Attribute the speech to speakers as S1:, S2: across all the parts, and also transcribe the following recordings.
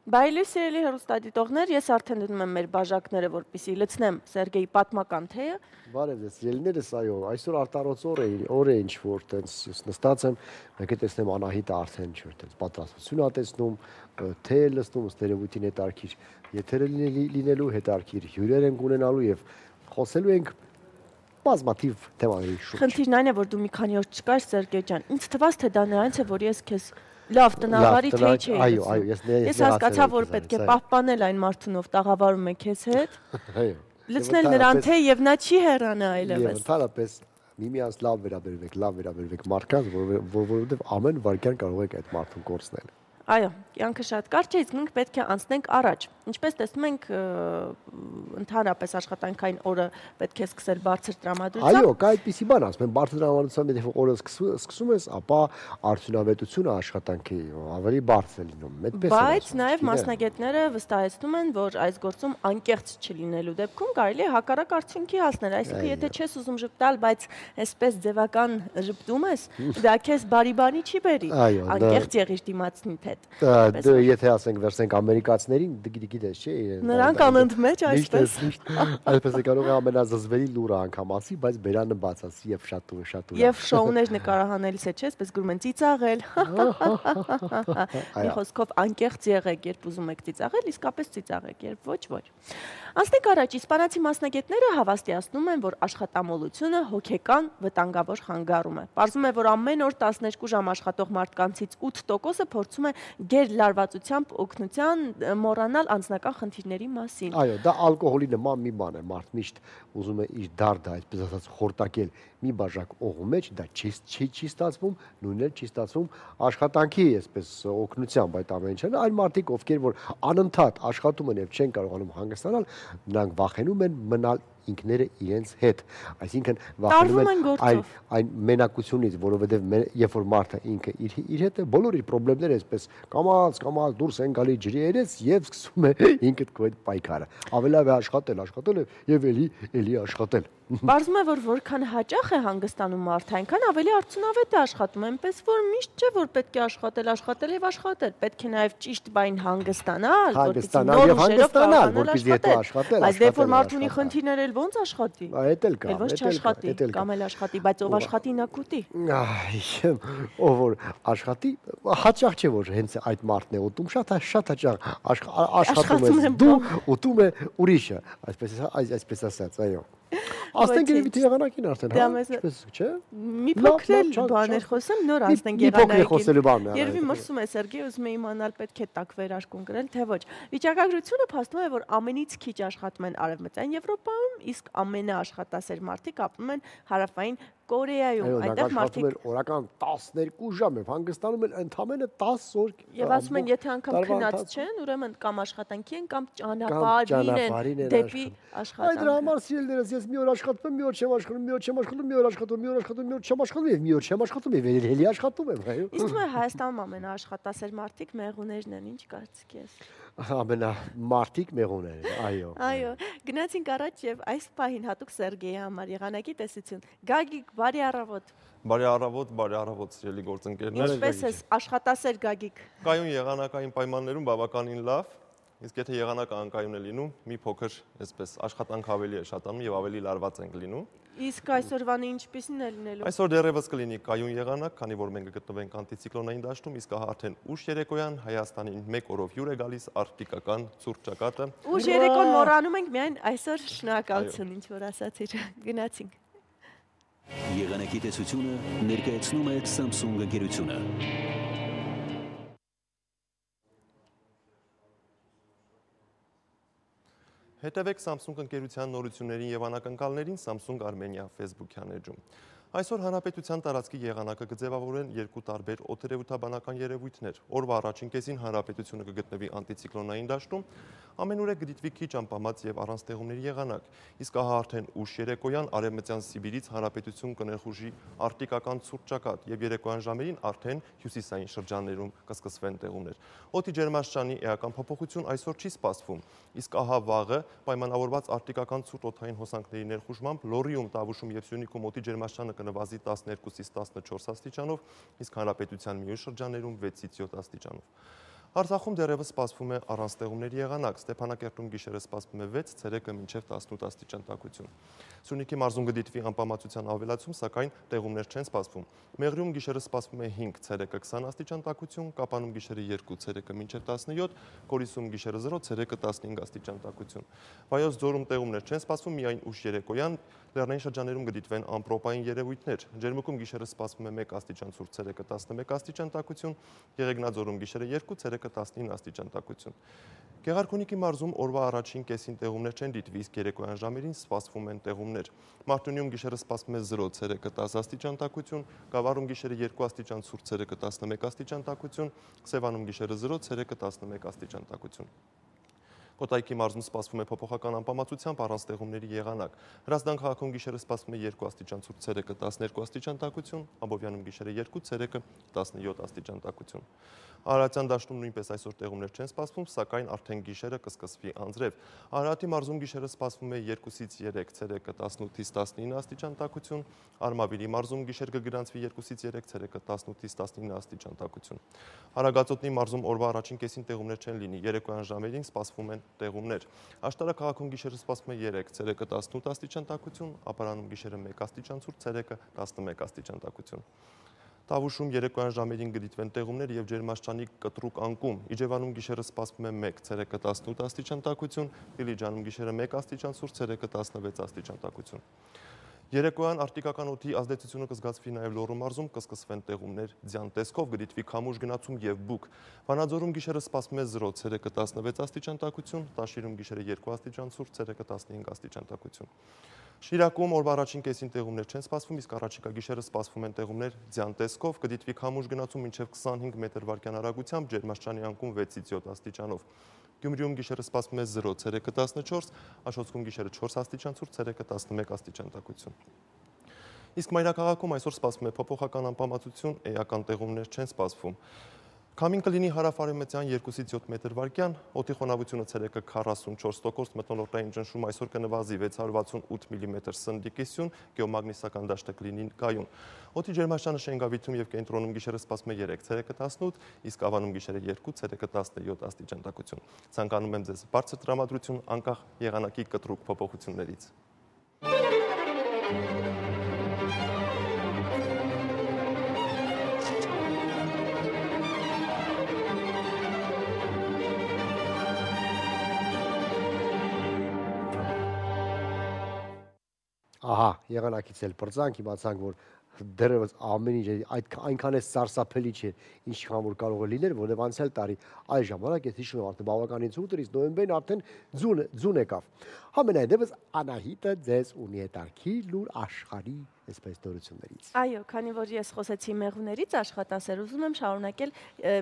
S1: Բայլույս սիրելի հեռուստադիտողներ, ես արդեն դնում եմ մեր բաժակները, որպեսզի լցնեմ Սերգեյի պատմական թեյը։
S2: Բարև ձեզ, ելիներս այո, այսօր արտարոց օր է ինչ-որ տենց նստած եմ, մեկ է տեսնեմ Անահիտը արդեն ինչ-որ տենց պատրաստություն ա տեսնում, թե է լցնում, ըստ երևույթին հետարքիր եթերը լինելու, հետարքիր հյուրեր ենք ունենալու և խոսելու ենք բազմաթիվ թեմաների շուրջ։
S1: Խնդիրն այն է, որ դու մի քանի օր չկար, Սերգեյ ջան, ինձ թվաց, թե դա նրանց է, որ ես քեզ լավ տնավարի թեյ չէի լցնում։ Ես հասկացա, որ պետք է պահպանել այն մարդուն, ով տաղավարում է քեզ հետ, լցնել նրան թեյ և նա չի հեռանա այլևս։
S2: Ընդհանրապես միմյանց լավ վերաբերվեք մարդկանց, որովհետև ամեն վայրկյան կարող եք այդ մարդուն կորցնել։
S1: Այո, կյանքը շատ կարճ է, իսկ մենք պետք է անցնենք առաջ։ Ինչպես տեսնում ենք, ընդհանրապես աշխատանքային օրը պետք է սկսել բարձր տրամադրությամբ։
S2: Այո, կա այդպիսի բան, ասում են բարձր տրամադրությամբ, եթե օրը սկսում ես, ապա արդյունավետությունը աշխատանքի ավելի բարձր է լինում։
S1: Բայց նաև մասնագետները վստահեցնում են, որ այս գործում անկեղծ չլինելու դեպքում կարելի է հակառակ արդյունքի հասնել։ Այսինքն, եթե չես ուզում ժպտալ, բայց այսպես ձևական ժպտում ես, դա քեզ բարի չի բերի։ Անկեղծ եղիր դիմացնիդ հետ։
S2: Եթե ասենք վերցնենք ամերիկացիներին, գիտես, չէ՞։
S1: Նրանք անընդմեջ այսպես։
S2: Այսպես է կարող է ամենազզվելի լուրը անգամ ասի, բայց բերանը բաց ասի եւ շատ ու։
S1: Եվ շոուներ նկարահանելիս է, չէ՞, այսպես գրում են ծիծաղել։ Մի խոսքով անկեղծ եղեք, երբ ուզում եք ծիծաղել, իսկապես ծիծաղեք, երբ ոչ։ Անցնենք առաջ, իսպանացի մասնագետները հավաստիացնում են, որ աշխատամոլությունը հոգեկան վտանգավոր խանգարում է։ Պարզվում է, որ ամեն օր 12 ժամ աշխատող մարդկանցից 8%-ը փորձում է գերլարվածությամբ օգնության մոռանալ անձնական խնդիրների մասին։
S2: Այո, դա ալկոհոլի նման մի բան է, մարդ միշտ ուզում է իր դարդը, այսպես ասած, խորտակել մի բաժակ օղու մեջ, դա չի ստացվում, նույնն էլ չի ստացվում աշխատանքի այսպես օգնությամբ այդ ամեն ինչը։ Այն մարդիկ, ովքեր որ անընդհատ աշխատում են եւ չեն կարողանում հանգստանալ, նրանք վախենում են մնալ ինքները իրենց հետ, այսինքն վախենում են այն մենակությունից, որովհետև երբ որ մարդը ինքը իր հետ է, բոլոր իր խնդիրները այսպես կամաց դուրս են գալի ջրի երես եւ սկսում է ինքդ քո այդ պայքարը։ Ավելի լավ է աշխատել եւ էլի աշխատել։
S1: Պարզվում է, որ որքան հաճախ է հանգստանում մարդը, այնքան ավելի արդյունավետ է աշխատում, այնպես որ միշտ չէ, որ պետք է աշխատել եւ աշխատել, պետք է նաեւ ճիշտ բайн հանգստանալ, որպեսզի նոր ուժերով կարողանալ աշխատել։ Բայց դեպի որ մարդու ունի խնդիրներ, էլ ոնց աշխատի։
S2: Այդ էլ կա,
S1: ոնց չաշխատի, կամ էլ աշխատի, բայց ով աշխատի նա կուտի։
S2: Ով որ աշխատի, հաճախ չէ որ հենց այդ մարդն է ուտում, շատ հաճախ աշխատում ես դու, ուտում է ուրիշը, այսպես ասած, այո։ Ասենք երևի թե եղանակին արդեն, ինչպես չէ։
S1: Մի փոքր բաներ խոսեմ, նոր ասենք եղանակին։ Երևի մրսում է Սերգեյ, ուզում է իմանալ պետք է տակ վերարկուն գրել, թե ոչ։ Վիճակագրությունը փաստում է, որ ամենից քիչ աշխատում են Արևմտյան Եվրոպայում, իսկ ամենաաշխատասեր մարդիկ ապրում են Հարավային Կորեայում,
S2: այնտեղ մարդիկ օրական 12 ժամ եւ հանգստանում են ընդամենը 10 օր։
S1: Եվ ասում են, եթե անգամ քնած չեն, ուրեմն կամ աշխատանքի են, կամ ճանապարհին են դեպի աշխատանք։
S2: Այդ դրա համար սիրելիներս, ես մի օր աշխատում եմ, մի օր չեմ աշխատում, մի օր չեմ աշխատում, մի օր աշխատում, մի օր աշխատում, մի օր չեմ աշխատում եւ մի օր չեմ աշխատում եւ էլի աշխատում եմ, այո։
S1: Իսկ դու Հայաստանում ամենաաշխատասեր մարդիկ մեղուներն են, ինչ կարծիք ես։
S2: Ամենամարտիկ մեղուներ, այո։
S1: Այո, գնացինք առաջ եւ այս պահին հատուկ Սերգեյի համար եղանակի տեսություն։ Գագիկ, բարի առավոտ։
S3: Բարի առավոտ, սիրելի գործընկերներ։
S1: Ինչպես ես աշխատասեր Գագիկ։
S3: Կայուն եղանակային պայմաններում բավականին լավ, իսկ եթե եղանակը անկայուն է լինում, մի փոքր այսպես աշխատանք ավելի է շատանում եւ ավելի լարված ենք լինում։
S1: Իսկ այսօրվանը ինչպիսին է լինելու։
S3: Այսօր դեռևս կլինի կայուն եղանակ, քանի որ մենք գտնվենք անտիցիկլոնային դաշտում, իսկ արդեն ուշ երեկոյան Հայաստանին 1 օրով հյուր է գալիս արկտիկական ցուրտ ճակատը։
S1: Ուշ երեկոն մոռանում ենք միայն այսօր շնորհակալություն, ինչ որ ասացիր, գնացինք։
S4: Եղանակի տեսությունը ներկայացնում է Samsung ընկերությունը։
S3: Հետևեք Samsung ընկերության նորություններին եւ անակնկալներին Samsung Armenia Facebook-յան էջում։ Այսօր հանրապետության տարածքի եղանակը կձևավորեն երկու տարբեր օդերևութաբանական երևույթներ։ Օրվա առաջին կեսին հանրապետությունը կգտնվի անտիցիկլոնային դաշտում, ամենուր է կդիտվի քիչ անպամած եւ առանց տեղումների եղանակ։ Իսկ ահա արդեն ուշ երեկոյան արևմտյան Սիբիրից հանրապետություն կներխուժի արկտիկական ցուրտ ճակատ եւ երեկոյան ժամերին արդեն հյուսիսային շրջաններում կսկսվեն տեղումներ։ Օդի ջերմաստիճանի էական փոփոխություն այսօր չի սպասվում, իսկ ահա վաղը պայմանավորված արկտիկական ցուրտ օդային հոսանքների ներխուժմամբ Լոռիում, Տավուշում եւ Սյունիքում օդի ջերմաստիճանը կնվազի 12-ից 14 աստիճանով, իսկ հանրապետության մյուս շրջաններում 6-ից 7 աստիճանով։ Արցախում դեռևս սպասվում է առանց տեղումների եղանակ, Ստեփանակերտում գիշերը սպասվում է 6, ցերեկը մինչև 18 աստիճան տաքություն։ Սյունիքի մարզում կդիտվի անպամացության ավելացում, սակայն տեղումներ չեն սպասվում։ Մեղրիում գիշերը սպասվում է 5, ցերեկը 20 աստիճան տաքություն, Կապանում գիշերը 2, ցերեկը մինչև 17, Գորիսում գիշերը 0, ցերեկը 15 աստիճան տաքություն։ Վայոց ձորում տեղումներ չեն սպասվում, միայն ուշ երեկոյան լեռնային շրջաններում կդիտվեն ամպրոպային երևույթներ։ Ջերմուկում գիշերը սպասվում է 1 աստիճան ցուրտ, ցերեկը 11 աստիճան տաքություն, Եղեգնաձորում գիշերը 2, ցերեկը 19 աստիճան տաքություն։ Գեղարքունիքի մարզում օրվա առաջին կեսին տեղումներ չեն դիտվի, իսկ երեկոյան ժամերին սպասվում են տեղումներ։ Մարտունիում գիշերը սպասվում է 0, ցերեկը 10 աստիճան տաքություն, Գավառում գիշերը 2 աստիճան ցուրտ, ցերեկը 11 աստիճան տաքություն, Սևանում գիշերը 0, ցերեկը 11 աստիճան տաքություն։ Կոտայքի մարզում սպասվում է փոփոխական անպամացությամբ առանց տեղումների եղանակ։ Հրազդան քաղաքում գիշերը սպասվում է 2 աստիճան ցուրտ, ցերեկը 12 աստիճան տաքություն, Աբովյանում գիշերը 2, ցերեկը 17 աստիճան տաքություն։ Արարատյան դաշտում նույնպես այսօր տեղումներ չեն սպասվում, սակայն արդեն գիշերը կսկսվի անձրև։ Արարատի մարզում գիշերը սպասվում է 2-ից 3, ցերեկը 18-ից 19 աստիճան տաքություն, Արմավիրի մարզում գիշեր կգրանցվի 2-ից 3, ցերեկը 18-ից 19 աստիճան տաքություն։ Արագածոտնի մարզում օրվա առաջին կեսին տեղումներ չեն լինի, երեկոյան ժամերին սպասվում են տեղումներ։ Աշտարակ քաղաքում գիշերը սպասվում է 3, ցերեկը 18 աստիճան տաքություն, Ապարանում գիշերը 1 աստիճան ցուրտ, ցերեկը 11 աստիճան տաքություն։ Տավուշում երեկոյան ժամերին կդիտվեն տեղումներ եւ ջերմաստիճանի կտրուկ անկում։ Իջևանում գիշերը սպասվում է 1, ցերեկը 18 աստիճան տաքություն, Դիլիջանում գիշերը 1 աստիճան ցուրտ, ցերեկը 16 աստիճան տաքություն։ Երեկոյան արտիկական օդի ազդեցությունը կզգացվի նաև Լոռու մարզում, կսկսվեն տեղումներ ձյան տեսքով, կդիտվի քամուշ գնացում եւ բուք։ Վանաձորում գիշերը սպասվում է 0, ցերեկը 16 աստիճան տաքություն, Տաշիրում գիշերը 2 աստիճան ցուրտ, ցերեկը 15 աստիճան տաքություն։ Շիրակում օրվա առաջին կեսին տեղումներ չեն սպասվում, իսկ առաջիկա գիշերը սպասվում են տեղումներ ձյան տեսքով, կդիտվի քամուշ գնացում մինչև 25 մետր/վայրկյան արագությամբ, ջերմաստիճանի անկում 6-ից 7 աստիճանով։ Գյումրիում գիշերը սպասվում է 0, ցերեկը 14, Աշոտսկում գիշերը 4 աստիճան ցուրտ, ցերեկը 11 աստիճան տաքություն։ Իսկ Մայրաքաղաքում այսօր սպասվում է փոփոխական անպամացություն, էական տեղումներ չեն սպասվում։ Քամին կլինի հարավարևմտյան 2-ից 7 մետր/վայրկյան, օդի խոնավությունը ցերեկը 44%, մթնոլորտային ճնշում այսօր կնվազի 668 մմ սնդի կիսյուն, գեոմագնիսական դաշտը կլինի կայուն։ Օդի ջերմաստիճանը Շենգավիթում եւ կենտրոնում գիշերը սպասվում է 3, ցերեկը 18, իսկ Ավանում գիշերը 2, ցերեկը 17 աստիճան տաքություն։ Ցանկանում եմ ձեզ բարձր տրամադրություն անկախ եղանակի կտրուկ փոփոխություններից։
S2: Ահա, եղանակից էլ պրծանք, իմացանք, որ դեռևս ամեն ինչ այնքան է սարսափելի չէ, ինչքան որ կարող է լինել, որովհետև անցյալ տարի այս ժամանակ ես հիշում եմ արդեն բավականին ցուրտ էր, իսկ նոյեմբերին արդեն ձուն եկավ։ Համենայնդեպս Անահիտը ձեզ ունի հետարքի լուր աշխարհի այսպես նորություններից։
S1: Այո, քանի որ ես խոսեցի մեղուներից աշխատասեր, ուզում եմ շարունակել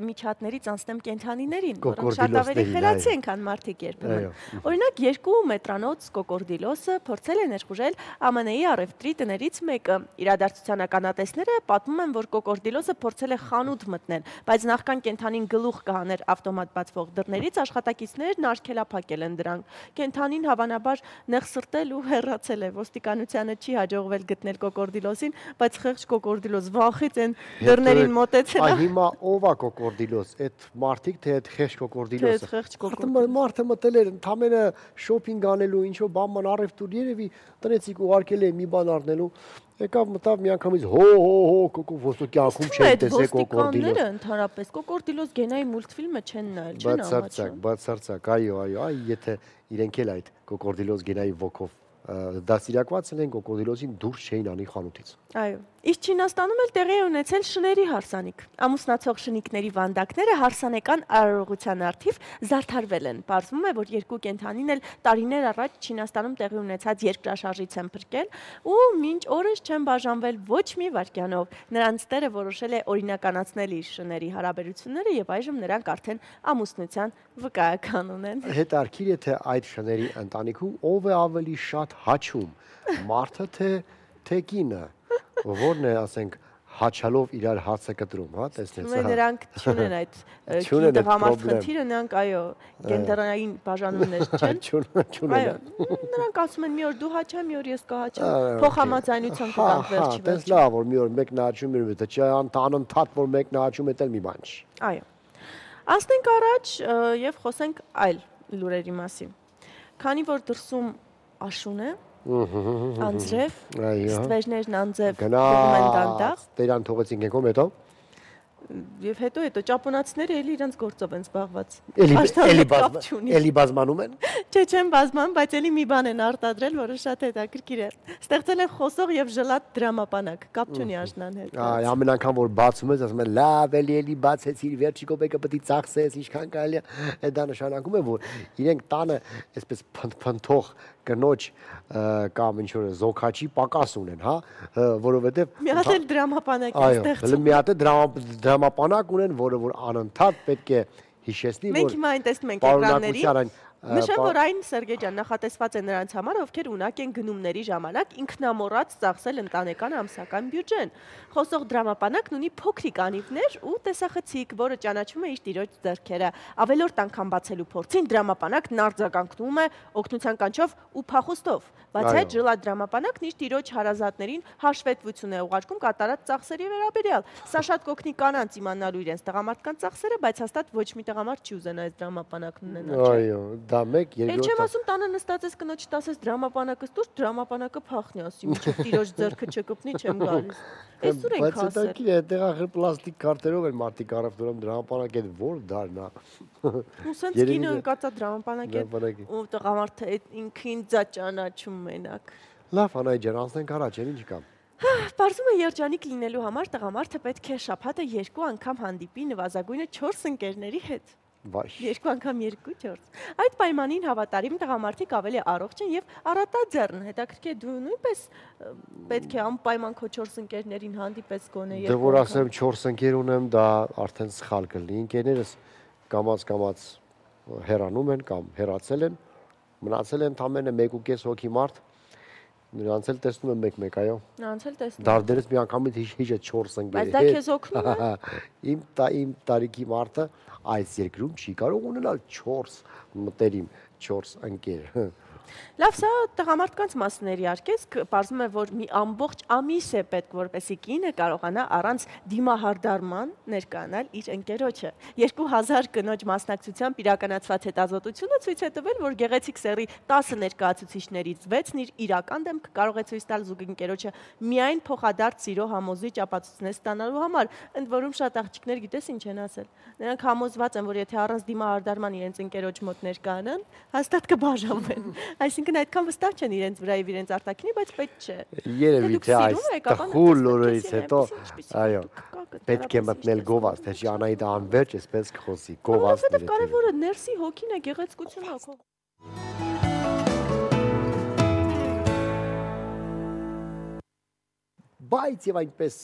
S1: միջատներից անցնեմ կենդանիներին, որոնք շատ ավելի խելացի են, քան մարդիկ երբեմն։ Օրինակ 2 մետրանոց կոկորդիլոսը փորձել է ներխուժել ԱՄՆ-ի առևտրի տներից մեկը։ Իրադարձության ականատեսները պատմում են, որ կոկորդիլոսը փորձել է խանութ մտնել, բայց նախքան կենդանին գլուխ կհաներ ավտոմատ բացվող դռներից, աշխատակիցներն արգելափակել են դրանք։ Կենդանին հավանաբար նեղսրտել ու հեռացել է։ Ոստիկանությանը չի հաջողվել գտնել կոկորդիլոսին, բայց խեղճ կոկորդիլոս վախից են դռներին մոտեցել։
S2: Այ հիմա ով է կոկորդիլոս, այդ մարդիկ թե այդ խեղճ կոկորդիլոսը։ Մարդը մտել էր ընդամենը շոփինգ անելու, ինչ-որ բան առևտուր, երևի տնեցիկ ուղարկել է մի բան առնելու, եկավ մտավ միանգամից ոստիկյանքում չեն տեսել կոկորդիլոս։
S1: Ոստիկանները ընդհանրապես կոկորդիլոս գենայի մուլտֆիլմը չեն նայել, չեն ամաչում։
S2: Բացարձակ, այո, եթե իրենք էլ այդ կոկորդիլոս գենայի ոգով դաստիարակված են կոկորդիլոսին դուրս չէին անի խանութից։
S1: Այո, իսկ Չինաստանում էլ տեղի է ունեցել շների հարսանիք։ Ամուսնացող շնիկների վանդակները հարսանեկան արարողության առթիվ զարդարվել են։ Պարզվում է, որ երկու կենդանին էլ տարիներ առաջ Չինաստանում տեղի ունեցած երկրաշարժից են փրկել ու մինչ օրս չեն բաժանվել ոչ մի վայրկյանով։ Նրանց տերը որոշել է օրինականացնել իր շների հարաբերությունները եւ այժմ նրանք արդեն ամուսնության վկայական ունեն։
S2: Հետարքիր է թե այդ շների ընտանիքում ով է ավելի շատ հաչում, մարդը թե կինը, որն է, ասենք, հաչալով իրար հացը կտրում, հա, տեսնես։
S1: Նրանք չունեն այդ կին-տղամարդ խնդիրը, նրանք, այո, գենդերային բաժանումներ չեն։
S2: Չունեն։
S1: Նրանք ասում են մի օր դու հաչա, մի օր ես կհաչամ, փոխհամաձայնության կգանք վերջի վերջ։
S2: Տես լավ, որ մի օր մեկն հաչում է, թե չէ անընդհատ որ մեկն հաչում է, էլ մի բան չի։
S1: Այո։ Անցնենք առաջ եւ խոսենք այլ լուրերի մասին։ Քանի որ դրսում աշուն է, անձրև, ստվերներն անձև գնում են դանդաղ,
S2: Տերան թողեցինք եկում հետո
S1: եւ հետո ճապոնացիները էլի իրենց գործով են զբաղված։
S2: Էլի բազմանում են։
S1: Չէ, չեն բազմանում, բայց էլի մի բան են արտադրել, որը շատ հետաքրքիր է։ Ստեղծել են խոսող եւ ժլատ դրամապանակ, կապ չունի աշնան հետ։
S2: Այ ամեն անգամ որ բացում ես, ասում են լավ, էլի բացեցիր, վերջի կոպեկը պետք է ծախսես, ինչքան կարելի է։ Դա նշանակում է, որ իրենք տանը այսպես փնթող կնոջ կամ ինչ որ զոքաչի պակաս ունեն, հա, որովհետեւ
S1: մի հատ էլ դրամապանակ է ստեղծում։
S2: Այո, մի հատ դրամապանակ ունեն, որը որ անընդհատ պետք է հիշեցնի, որ
S1: մենք հիմա այն տեսնում ենք էկրաններին։ Նշեմ, որ այն Սերգեյ ջան նախատեսված է նրանց համար, ովքեր ունակ են գնումների ժամանակ ինքնամոռաց ծախսել ընտանեկան ամսական բյուջեն։ Խոսող դրամապանակն ունի փոքրիկ անիվներ ու տեսախցիկ, որը ճանաչում է իր տիրոջ ձեռքերը։ Ավելորդ անգամ բացելու փորձին դրամապանակն արձագանքում է օգնության կանչով ու փախուստով։ Բացի այդ, ժլատ դրամապանակն իր տիրոջ հարազատներին հաշվետվություն է ուղարկում կատարած ծախսերի վերաբերյալ։ Սա շատ կօգնի կանանց իմանալու իրենց տղամարդկանց ծախսերը, բայց հաստատ ոչ մի տղամարդ չի ուզենա այս դրամապանակն ունենալ։
S2: Այո, դա մեկ,
S1: երկրորդ։ Էլ չեմ ասում տանը նստած ես կնոջ տասես դրամապանակը ստուր, դրամապանակը փախնի, ասի, մինչև տիրոջ ձեռքը չկպնի, չեմ գալիս։ Այսօր ենք ասել։
S2: Բայց դա այդտեղ ախր պլաստիկ կարտերով են մարդիկ առավ դրամ դրամապանակ այդ որ դառնա։
S1: Ու սենց կինը ընկածա դրամապանակ է ու տղամարդը ինքին ձա ճանաչում մենակ։
S2: Լավ, Անահիտ ջան, անցնենք առաջ, ինչ կա։
S1: Պարզում է երջանիկ լինելու համար տղամարդը պետք է շաբաթը 2 անգամ հանդիպի նվազագույնը 4 ընկերների հետ։ 2 անգամ 2-4։ Այդ պայմանին հավատարիմ տղամարդիկ ավելի առողջ են եւ առատաձեռն։ Հետաքրքիր է, դու նույնպես պետք է անպայման քո 4 ընկերներին հանդիպես գոնե 2 անգամ։
S2: Դե որ ասեմ 4 ընկեր ունեմ, դա արդեն սխալ կլինի։ Ընկերներս կամաց հեռանում են կամ հեռացել են, մնացել են ընդամենը 1.5 հոգի մարդ։ Նրանց էլ տեսնում եմ մեկ-մեկ, այո։
S1: Նրանց էլ տեսնում։
S2: Դարդերից մի անգամից հիշը 4 ընկեր։
S1: Բայց դա քեզ օգնում է։
S2: Իմ տարիքի մարդը այս երկրում չի կարող ունենալ 4 մտերիմ 4 ընկեր։
S1: Լավ, սա տղամարդկանց մասների արկեսք, պարզում է, որ մի ամբողջ ամիս է պետք, որպեսզի կինը կարողանա առանց դիմահարդարման ներկայանալ իր ընկերոջը։ 2000 կնոջ մասնակցությամբ իրականացված հետազոտությունը ցույց է տվել, որ գեղեցիկ սեռի 10 ներկայացուցիչներից 6-ն իր իրական դեմքը կարող է ցույց տալ զուգընկերոջը միայն փոխադարձ սիրո համոզիչ ապացույցներ ստանալու համար։ Ընդ որում շատ աղջիկներ գիտես ինչ են ասել։ Նրանք համոզված են, որ եթե առանց դիմահարդարման իրենց ընկերոջ մոտ ներկայանան, հաստատ կբաժանվեն։ Այսինքն այդքան վստահ չեն իրենց վրա եւ իրենց արտաքինի, բայց պետք չէ։
S2: Երևի թե այս տխուր լուրերից հետո, այո, պետք է մտնել գովազ, թե չի Անահիտը անverջ էսպես կխոսի, գովազ։
S1: Որովհետեւ կարևորը ներսի հոգին է, գեղեցկությունը քո։
S2: Բայց եւ այնպես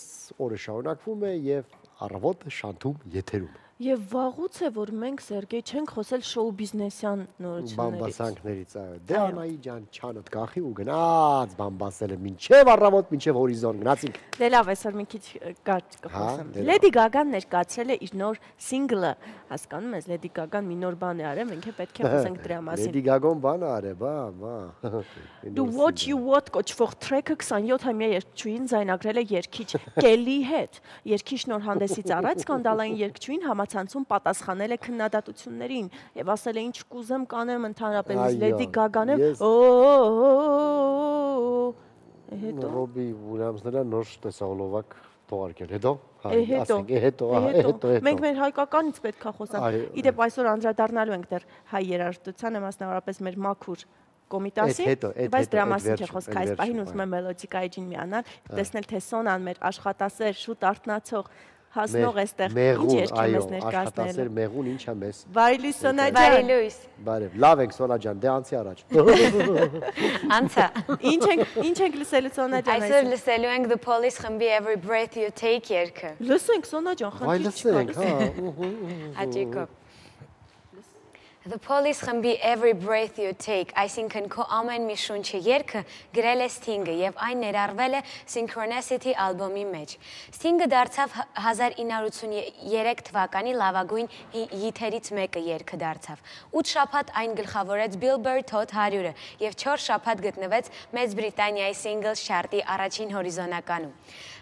S2: օրը շարունակվում է եւ առավոտը շանթում եթերում։
S1: Եվ վաղուց է, որ մենք Սերգեյ չենք խոսել շոու բիզնեսյան նորություններից։
S2: Բամբասանքներից, այո։ Դե Անահիտ ջան, չանոթ կախի ու գնաց բամբասելը մինչև առավոտ, մինչև հորիզոն գնացինք։
S1: Դե լավ, այսօր մի քիչ կարճ կխոսեմ։ Լեդի Գագան ներկայացրել է իր նոր սինգլը։ Հասկանում ես, Լեդի Գագան մի նոր բան է արել, մենք էլ պետք է խոսենք դրա մասին։
S2: Լեդի Գագոն բան է արել, բա։
S1: Do What You Want կոչվող թրեքը 27-ամյա երգչուհին ձայնագրել է երգիչ Կելի հետ։ Երգիչն նոր հանդեսից առաջ սկանդալային երգչուհին համացանցում պատասխանել է քննադատություններին եւ ասել է ինչ կուզեմ կանեմ ընդհանրապես Լեդի Գագան է հետո
S2: Ռոբի Ուիլյամսները նոր տեսահոլովակ թողարկել հետո
S1: հետո մենք մեր հայկականից պետք է խոսանք իդեպ այսօր անդրադառնալու ենք դեռ հայ երաժշտությանը մասնավորապես մեր մաքուր կոմիտասի, բայց դրա մասին չէ խոսքը, այս պահին ուզում եմ մելոդիկայի ջին միանալ, տեսնել թե Սոնան մեր աշխատասեր, շուտ արթնացող հասնող էստեղ ինչ երկի մեզ ներկայացնել։
S2: Աշխատասեր մեղուն ինչա մեզ։
S1: Բարի լույս Սոնա ջան։
S5: Բարի լույս։
S2: Բարև, լավ ենք Սոնա ջան, դե անցի առաջ։
S5: Անցա։
S1: Ինչ ենք լսելու Սոնա ջան
S5: այսօր լսելու ենք The Police խմբի Every Breath You Take երգը։
S1: Լսենք Սոնա ջան,
S2: Վայ լսենք, հա։
S5: Հաճիկով։ The Police խմբի Every Breath You Take, այսինքն քո ամեն մի շունչը երգը գրել է Sting-ը եւ այն ներառվել է Synchronicity ալբոմի մեջ։ Sting-ը դարձավ 1983 թվականի լավագույն հիթերից մեկը երգը դարձավ։ 8 շաբաթ այն գլխավորեց Billboard Hot 100-ը եւ 4 շաբաթ գտնվեց Մեծ Բրիտանիայի Singles Chart-ի առաջին հորիզոնականում։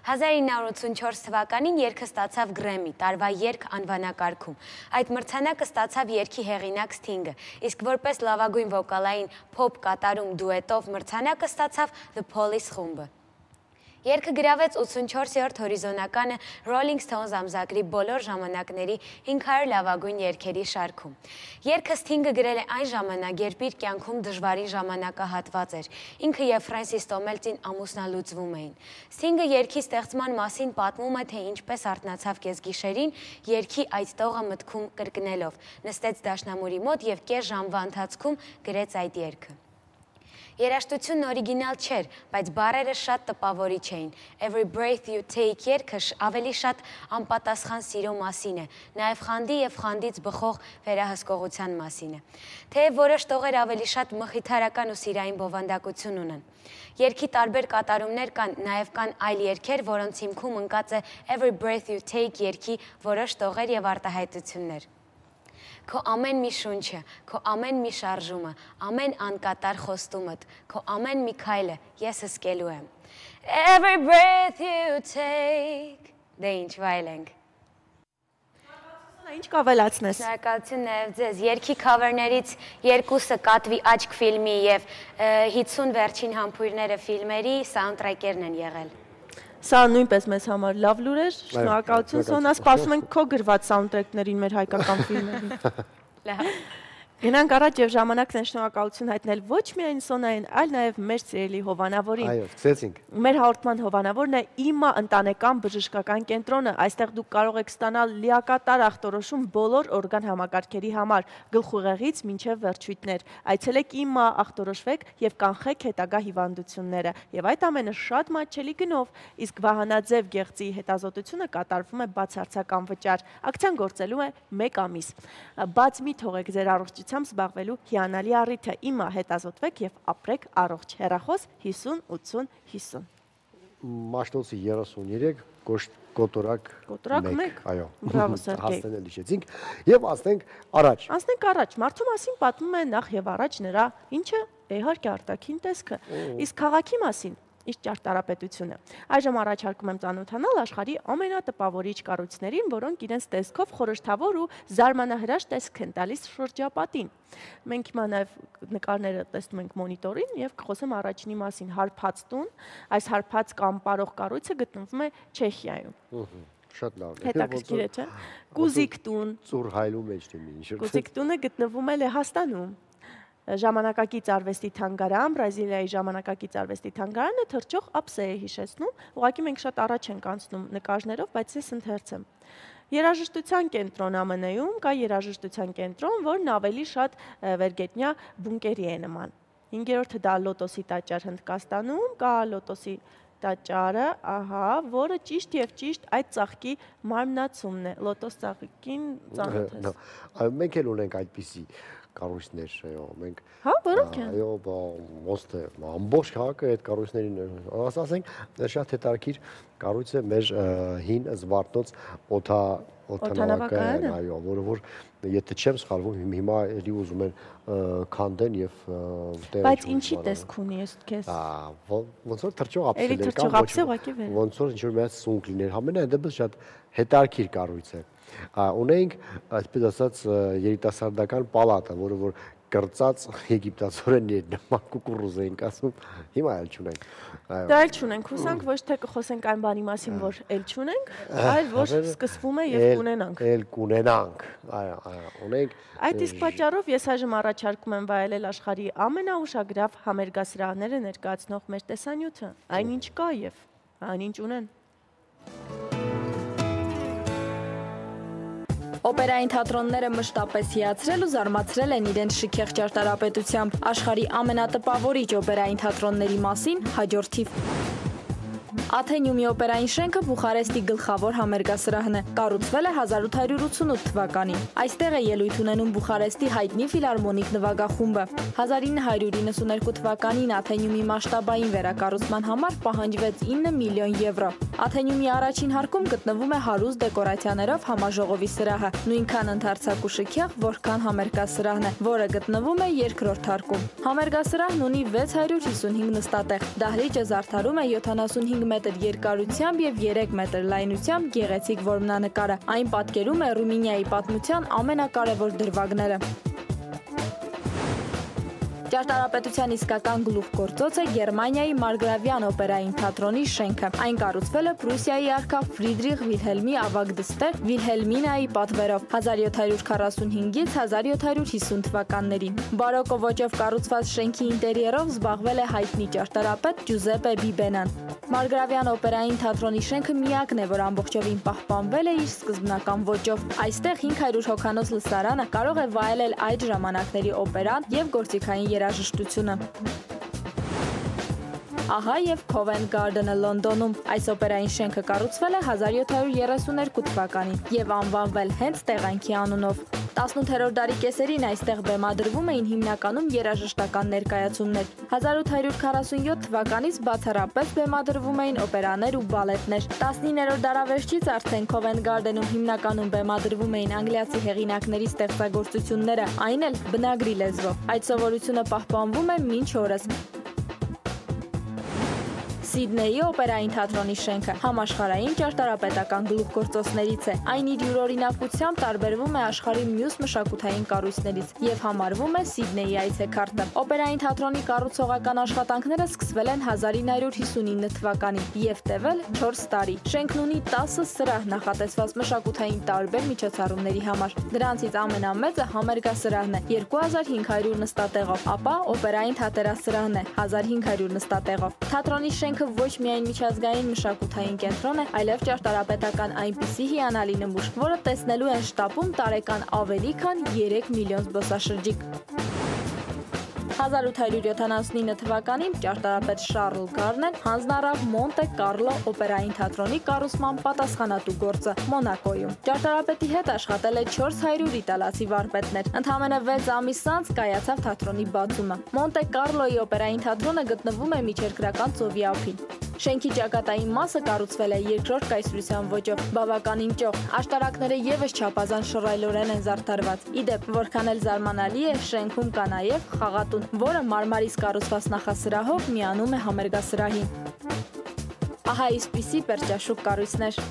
S5: 1984 թվականին երգը ստացավ Grammy, տարվա երգ անվանակարգում։ Այդ մրցանակը ստացավ երգի հեղինակ Sting-ը, իսկ որպես լավագույն վոկալային փոփ կատարում դուետով մրցանակը ստացավ The Police խումբը։ Երգը գրավեց 84-րդ հորիզոնականը Rolling Stones ամսագրի բոլոր ժամանակների 500 լավագույն երգերի շարքում։ Երգը Sting-ը գրել է այն ժամանակ, երբ իր կյանքում դժվարին ժամանակահատված էր։ Ինքը եւ Ֆրենսիս Տոմելտին ամուսնալուծվում էին։ Sting-ը երգի ստեղծման մասին պատմում է, թե ինչպես արթնացավ կեսգիշերին, երգի այդ տողը մտքում կրկնելով, նստեց դաշնամուրի մոտ եւ կես ժամվա ընթացքում գրեց այդ երգը։ Երաժշտությունն օրիգինալ չէր, բայց բառերը շատ տպավորիչ էին։ Every Breath You Take երգը ավելի շատ անպատասխան սիրո մասին է, նաև խանդի եւ խանդից բխող վերահսկողության մասին է։ Թեև որոշ տողեր ավելի շատ մխիթարական ու սիրային բովանդակություն ունեն։ Երգի տարբեր կատարումներ կան, նաև կան այլ երգեր, որոնց հիմքում ընկած է Every Breath You Take երգի որոշ տողեր եւ արտահայտություններ։ Քո ամեն մի շունչը, քո ամեն մի շարժումը, ամեն անկատար խոստումդ, քո ամեն մի քայլը ես հսկելու եմ։ Every breath you take, դե ինչ վայելենք։
S1: Ինչ կավելացնես։
S5: Շնորհակալություն նաև ձեզ։ Երգի քավերներից երկուսը Կատվի աչք ֆիլմի եւ 50 վերջին համբույրները ֆիլմերի սաունդթրեքերն են եղել։
S1: Սա նույնպես մեզ համար լավ լուր էր, շնորհակալություն Սոնա, սպասում ենք քո գրված սաունդթրեքներին մեր հայկական ֆիլմերին։
S5: Լավ։
S1: Գնանք առաջ եւ ժամանակն է շնորհակալություն հայտնել ոչ միայն Սոնային, այլ նաեւ մեր սիրելի հովանավորին։
S2: Այո, սկսեցինք։
S1: Մեր հաղորդման հովանավորն է ԻՄԱ ընտանեկան բժշկական կենտրոնը։ Այստեղ դուք կարող եք ստանալ լիակատար ախտորոշում բոլոր օրգան համակարգերի համար, գլխուղեղից մինչև վերջույթներ։ Այցելեք ԻՄԱ, ախտորոշվեք եւ կանխեք հետագա հիվանդությունները։ Եվ այդ ամենը շատ մատչելի գնով, իսկ վահանաձև գեղձի հետազոտությունը կատարվում է բացարձակ անվճար։ Ակցիան գործելու է 1 ամիս։ Բաց մի թողեք ձեր առողջության զբաղվելու հիանալի առիթը։ ԻՄԱ հետազոտվեք եւ ապրեք առողջ։ Հեռախոս 50 80 50։
S2: Մաշտոցի 33 կոտորակ 1։ Այո։
S1: Բրավո Սերգեյ։
S2: Հասնեն լիշեցինք եւ ասենք առաջ։
S1: Անցնենք առաջ։ Մարդու մասին պատմում է նախ եւ առաջ նրա ինչը իհարկե արտաքին տեսքը։ Իսկ քաղաքի մասին իր ճարտարապետությունը։ Այժմ առաջարկում եմ ծանոթանալ աշխարհի ամենատպավորիչ կառույցներին, որոնք իրենց տեսքով խորհրդավոր ու զարմանահրաշ տեսք են տալիս շրջապատին։ Մենք հիմա նաև նկարները տեսնում ենք մոնիտորին եւ կխոսեմ առաջինի մասին՝ հարբած տուն։ Այս հարբած կամ պարող կառույցը գտնվում է Չեխիայում։
S2: Շատ լավ է։
S1: Հետաքրքիր է, չէ՞։ Կուզիկ տուն։
S2: Ծուր հայլու մեջ դեմի ինչ։
S1: Կուզիկ տունը գտնվում է Լեհաստանում։ Ժամանակակից արվեստի թանգարան, Բրազիլիայի ժամանակակից արվեստի թանգարանը թրջող ափսե է հիշեցնում, ուղղակի մենք շատ առաջ ենք անցնում նկարներով, բայց ես ընթերցեմ։ Երաժշտության կենտրոն ԱՄՆ-ում կա երաժշտության կենտրոն, որն ավելի շատ վերգետնյա բունկերի է նման։ 5-րդը դա Լոտոսի տաճար Հնդկաստանում, կա Լոտոսի տաճարը, ահա, որը ճիշտ եւ ճիշտ այդ ծաղկի մարմնացումն է։ Լոտոս ծաղկին ծանոթ ես։
S2: Այո, մենք էլ ունենք այդպիսի կառույցներ, այո, մենք։
S1: Հա, որոնք են։
S2: Այո, ոստը ամբողջ քաղաքը այդ կառույցներին, ասենք, շատ հետաքրքիր կառույց է մեր հին Զվարթնոց օդանավակայանը, այո, որը որ եթե չեմ սխալվում, հիմա էլի ուզում են քանդեն եւ տեղի։
S1: Բայց ինչի տեսք ունի ես քեզ։
S2: Ոնց որ թրջող ափսեր
S1: կան,
S2: ոնց որ ինչ-որ մեծ սունկ լիներ, ամենայն դեպս շատ հետաքրքիր կառույց է։ Ունենք, այսպես ասած, երիտասարդական պալատը, որը որ կրծած եգիպտացորեն նման կուկուռուզ էինք ասում, հիմա էլ չունենք։
S1: Դա էլ չունենք, հուսանք ոչ թե կխոսենք այն բանի մասին, որ էլ չունենք, այլ որ սկսվում է եւ կունենանք։
S2: Էլ կունենանք, այո, ունենք։
S1: Այդ իսկ պատճառով ես այժմ առաջարկում եմ վայելել աշխարհի ամենաուշագրավ համերգասրահները ներկայացնող մեր տեսանյութը, այնինչ կա եւ այնինչ ունեն։
S6: Օպերային թատրոնները մշտապես հիացրել ու զարմացրել են իրենց շքեղ ճարտարապետությամբ։ Աշխարհի ամենատպավորիչ օպերային թատրոնների մասին հաջորդիվ։ Աթենյումի օպերային շենքը Բուխարեստի գլխավոր համերգասրահն է։ Կառուցվել է 1888 թվականին։ Այստեղ է ելույթ ունենում Բուխարեստի հայտնի ֆիլհարմոնիկ նվագախումբը։ 1992 թվականին Աթենյումի մասշտաբային վերակառուցման համար պահանջվեց 9 միլիոն եվրո։ Աթենյումի առաջին հարկում գտնվում է հարուստ դեկորացիաներով համաժողովի սրահը, նույնքան ընդարձակ ու շքեղ, որքան համերգասրահն է, որը գտնվում է երկրորդ հարկում։ Համերգասրահն ունի 655 նստատեղ։ Դահլիճը զարդարում է 75 մետր երկարությամբ եւ 3 մետր լայնությամբ գեղեցիկ որմնանկարը։ Այն պատկերում է Ռումինիայի պատմության ամենակարևոր դրվագները։ Ճարտարապետության իսկական գլուխգործոց է Գերմանիայի Մարգրավյան օպերային թատրոնի շենքը։ Այն կառուցվել է Պրուսիայի արքա Ֆրիդրիխ Վիլհելմի ավագ դստեր Վիլհելմինայի պատվերով 1745-ից 1750 թվականներին։ Բարոկո ոճով կառուցված շենքի ինտերիերով զբաղվել է հայտնի ճարտարապետ Ջուզեպե Բիբենան։ Մարգրավյան օպերային թատրոնի շենքը միակն է, որ ամբողջովին պահպանվել է իր սկզբնական ոճով։ Այստեղ 500 հոգանոց լսարանը կարող է վայելել այդ ժամանակների օպերան եւ գործիքային երաժշտությունը։ Ահա եւ Covent Garden-ը Լոնդոնում։ Այս օպերային շենքը կառուցվել է 1732 թվականին եւ անվանվել հենց տեղանքի անունով։ 18-րդ դարի կեսերին այստեղ բեմադրվում էին հիմնականում երաժշտական ներկայացումներ։ 1847 թվականից բացառապես բեմադրվում էին օպերաներ ու բալետներ։ 19-րդ դարավերջից արդեն Covent Garden-ում հիմնականում բեմադրվում էին անգլիացի հեղինակների ստեղծագործությունները, այն էլ բնագրի լեզվով։ Այդ սովորությունը պահպանվում է մինչ օրս։ Սիդնեյի օպերային թատրոնի շենքը համաշխարհային ճարտարապետական գլուխգործոցներից է։ Այն իր յուրօրինակությամբ տարբերվում է աշխարհի մյուս մշակութային կառույցներից եւ համարվում է Սիդնեյի այցեքարտը։ Օպերային թատրոնի կառուցողական աշխատանքները սկսվել են 1959 թվականին եւ տևել 4 տարի։ Շենքն ունի 10 սրահ նախատեսված մշակութային տարբեր միջոցառումների համար։ Դրանցից ամենամեծը համերգասրահն է 2500 նստատեղով, ապա օպերային թատերասրահն է 1500 նստատեղով։ Թատրոնի շենքը ոչ միայն միջազգային մշակութային կենտրոն է, այլև ճարտարապետական այնպիսի հիանալի նմուշ, որը տեսնելու են շտապում տարեկան ավելի քան 3 միլիոն զբոսաշրջիկ։ 1879 թվականին ճարտարապետ Շարլ Գարնեն հանձնառավ Մոնտե Կարլո օպերային թատրոնի կառուցման պատասխանատու գործը Մոնակոյում։ Ճարտարապետի հետ աշխատել է 400 իտալացի վարպետներ։ Ընդամենը 6 ամիս անց կայացավ թատրոնի բացումը։ Մոնտե Կարլոյի օպերային թատրոնը գտնվում է միջերկրական ծովի ափին։ Շենքի ճակատային մասը կառուցվել է երկրորդ կայսրության ոճով, բավականին ճոխ։ Աշտարակները եւս չափազանց շռայլորեն են զարդարված։ Իդեպ, որքան էլ զարմանալի է, շենքում կա նաեւ խաղատուն, որը մարմարից կառուցված նախասրահով միանում է համերգասրահին։ Ահա այսպիսի պերճաշուք կառույցներ։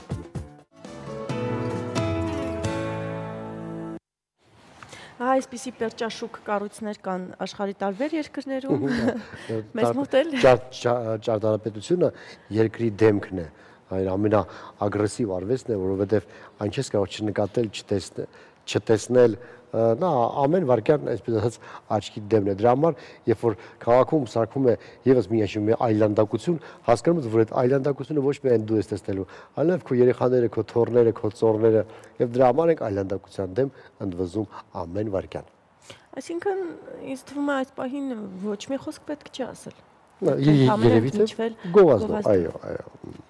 S1: Այսպիսի պերճաշուկ կառույցներ կան աշխարհի տարբեր երկրներում։ Մեզ մոտ էլ
S2: ճարտարապետությունը երկրի դեմքն է, այն ամենաագրեսիվ արվեստն է, որովհետև այն չես կարող չնկատել, չտեսնել, նա ամեն վարքյան, այսպես ասած, աչքի դեմն է։ Դրա համար, երբ որ քաղաքում սարքում է եւս մի այլանդակություն, հասկանում ես, որ այդ այլանդակությունը ոչ միայն դու ես տեսնելու, այլև քո երեխաները, քո թոռները, քո ծոռները, եւ դրա համար ենք այլանդակության դեմ ընդվզում ամեն վարքյան։
S1: Այսինքն, ինձ թվում է այս պահին ոչ մի խոսք պետք չի ասել։
S2: Երևի թե գովազդով, այո։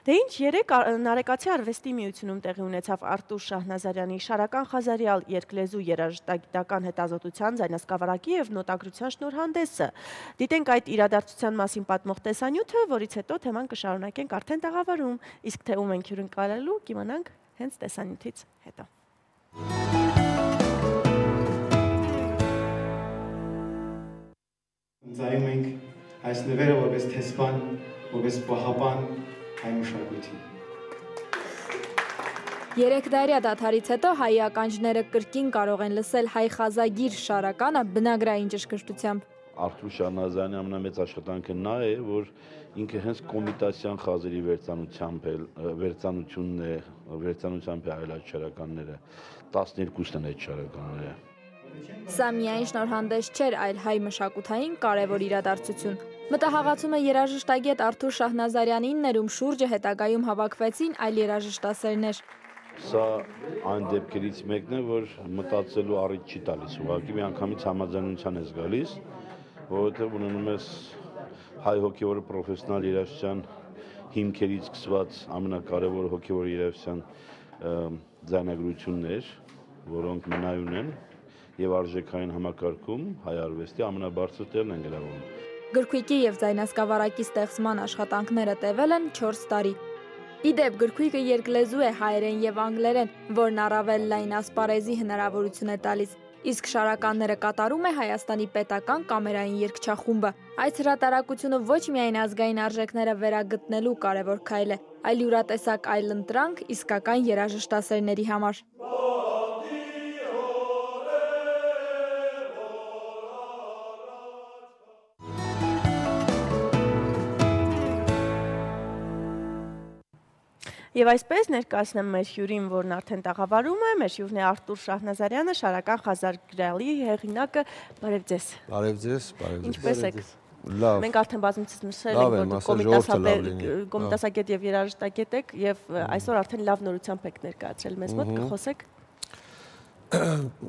S1: Դե ինչ, երեկ Նարեկացի արվեստի միությունում տեղի ունեցավ Արտուր Շահնազարյանի Շարական Խազարյալ երկլեզու երաժշտագիտական հետազոտության ձայնասկավառակի եւ նոտագրության շնորհանդեսը։ Դիտենք այդ իրադարձության մասին պատմող տեսանյութը, որից հետո թեման կշարունակենք արդեն տաղավարում, իսկ թե ում ենք հյուրընկալելու, կիմանանք հենց տեսանյութից հետո։
S7: Ընծայում ենք այս նվերը որպես տեսփան, որպես պահապան հայ մշակույթի։
S6: 3 դարյա դադարից հետո հայ ականջները կրկին կարող են լսել հայ խազագիր Շարականը բնագրային ճշգրտությամբ։
S8: Արտուր Շահնազարյանի ամենամեծ աշխատանքը նա է, որ ինքը հենց կոմիտասյան խազերի վերծանությամբ է այլ այդ շարականները, 12-ն են այդ շարականները։
S6: Սա միայն շնորհանդես չէր, այլ հայ մշակութային կարևոր իրադարձություն։ Մտահաղացումը երաժշտագետ Արտուր Շահնազարյանին ներում շուրջը հետագայում հավաքվեցին այլ երաժշտասերներ։
S8: Սա այն դեպքերից մեկն է, որ մտածելու առիթ չի տալիս, ուղղակի միանգամից համաձայնության ես գալիս, որովհետև ունենում ես հայ հոգևոր պրոֆեսիոնալ երաժշտության հիմքերից սկսված ամենակարևոր հոգևոր երաժշտության ձայնագրություններ, որոնք մնայուն են եւ արժեքային համակարգում հայ արվեստի ամենաբարձր տեղն են գրավում։
S6: Գրքույկի եւ ձայնասկավառակի ստեղծման աշխատանքները տևել են 4 տարի։ Իդեպ գրքույկը երկլեզու է հայերեն եւ անգլերեն, որն առավել լայն ասպարեզի հնարավորություն է տալիս։ Իսկ շարականները կատարում է Հայաստանի պետական կամերային երգչախումբը։ Այս հրատարակությունը ոչ միայն ազգային արժեքները վերագտնելու կարևոր քայլ է, այլ յուրատեսակ այլընտրանք իսկական երաժշտասերների համար։
S1: Եվ այսպես ներկայացնեմ մեր հյուրին, որն արդեն տաղավարում է, մեր հյուրն է Արտուր Շահնազարյանը, շարական Խազար գրալի հեղինակը։ Բարև ձեզ։
S9: Բարև ձեզ, բարև ձեզ։
S1: Ինչպե՞ս եք։
S9: Լավ։
S1: Մենք արդեն բազմիցս նշել ենք, որ կոմիտասագետ եւ երաժշտագետ եք եւ այսօր արդեն լավ նորությամբ եք ներկայացրել մեզ մոտ, կխոսեք։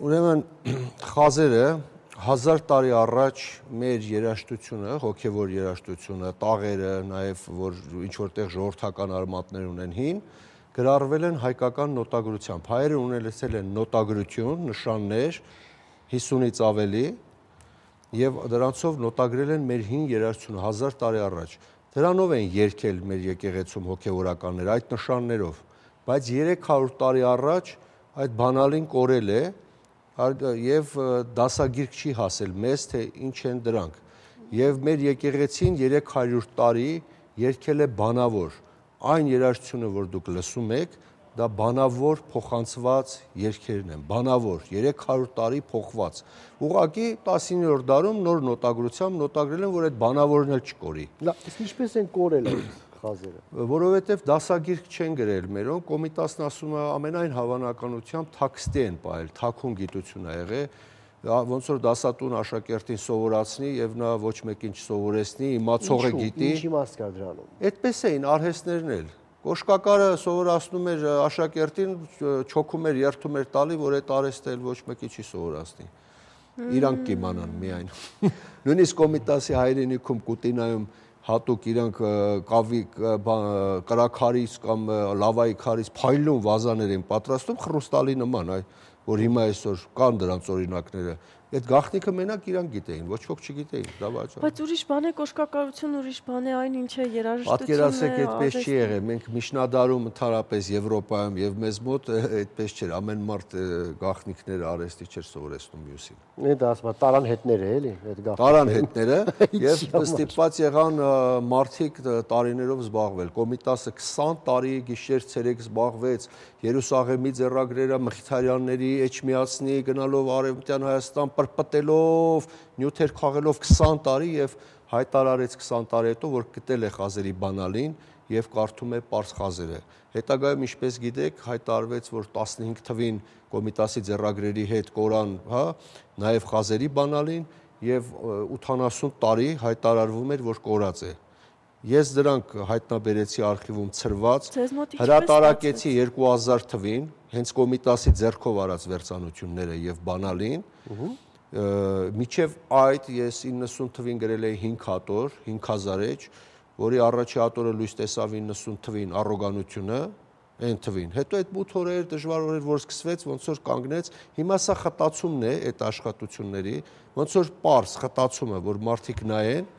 S9: Ուրեմն խազերը 1000 տարի առաջ մեր երաժշտությունը, հոգևոր երաժշտությունը, տաղերը, նաև որ ինչ որտեղ ժողովրդական արմատներ ունեն հին, գրառվել են հայկական նոտագրությամբ։ Հայերը ունեցել են նոտագրություն, նշաններ 50-ից ավելի եւ դրանցով նոտագրել են մեր հին երաժշտությունը 1000 տարի առաջ։ Դրանով են երգել մեր եկեղեցում հոգևորականները այդ նշաններով, բայց 300 տարի առաջ այդ բանալին կորել է եւ դասագիրք չի հասել մեզ, թե ինչ են դրանք։ Եվ մեր եկեղեցին 300 տարի երգել է բանավոր։ Այն երաժշտությունը, որ դուք լսում եք, դա բանավոր փոխանցված երգերն են, բանավոր, 300 տարի փոխված։ Ուղղակի 19-րդ դարում նոր նոտագրությամբ նոտագրել են, որ այդ բանավորն էլ չկորի։
S2: Լավ, իսկ ինչպես են կորել այդ խազերը։
S9: Որովհետև դասագիրք չեն գրել մերոն, կոմիտասն ասում է ամենայն հավանականությամբ թաքստի են պահել, թաքուն գիտություն ա եղել, ոնց որ դասատուն աշակերտին սովորացնի եւ նա ոչ մեկին չսովորեցնի, իմացողը գիտի։
S2: Ինչ իմաստ կա դրանում։
S9: Այդպես էին արհեստներն էլ։ Կոշկակարը սովորացնում էր աշակերտին, չոքում էր, երթում էր տալի, որ այդ արհեստը էլ ոչ մեկի չի սովորացնի։ Իրանք կիմանան միայն։ Նույնիսկ կոմիտասի հայրենիքում Կուտինայում հատուկ իրանք կավի կրաքարից կամ լավայի քարից փայլուն վազաներ են պատրաստում խրուստալի նման, որ հիմա այսօր կան դրանց օրինակները։ Այդ գաղտնիքը մենակ իրանք գիտեին, ոչ ոք չգիտեին, դա բացառ։
S1: Բայց ուրիշ բան է կոշկակարություն, ուրիշ բան է այն ինչը երաժշտությունն է։
S9: Պատկերացեք, այդպես չի եղել։ Մենք միջնադարում ընդհանրապես Եվրոպայում եւ մեզ մոտ այդպես չէր, ամեն մարդ գաղտնիքները արհեստի չէր սովորեցնում մյուսին։
S2: Դա ասում է տարան հետները էլի, այդ գաղտնիքը։
S9: Տարան հետները եւ ստիպված եղան մարդիկ տարիներով զբաղվել։ Կոմիտասը 20 տարի գիշեր-ցերեկ զբաղվեց Երուսաղեմի ձեռագրերը Մխիթարյանների Էջմիածնի գնալով Արևմտյան Հայաստան պրպտելով, նյութեր քաղելով 20 տարի եւ հայտարարեց 20 տարի հետո, որ գտել է խազերի բանալին եւ կարդում է պարս խազերը։ Հետագայում, ինչպես գիտեք, հայտարարվեց, որ 15 թվին կոմիտասի ձեռագրերի հետ կորան, հա, նաեւ խազերի բանալին եւ 80 տարի հայտարարվում էր, որ կորած է։ Ես դրանք հայտնաբերեցի արխիվում ցրված, հրատարակեցի 2000 թվին, հենց կոմիտասի ձեռքով արած վերցանությունները եւ բանալին։ Միջև այդ ես 90 թվին գրել էի 5 հատոր, 5000 էջ, որի առաջի հատորը լույս տեսավ 90 թվին առոգանությունը, այն թվին։ Հետո այդ 8 օրեր դժվար օրեր որ սկսվեց, ոնց որ կանգնեց, հիմա սա խտացումն է այդ աշխատությունների, ոնց որ պարս խտացումը, որ մարդիկ նայեն,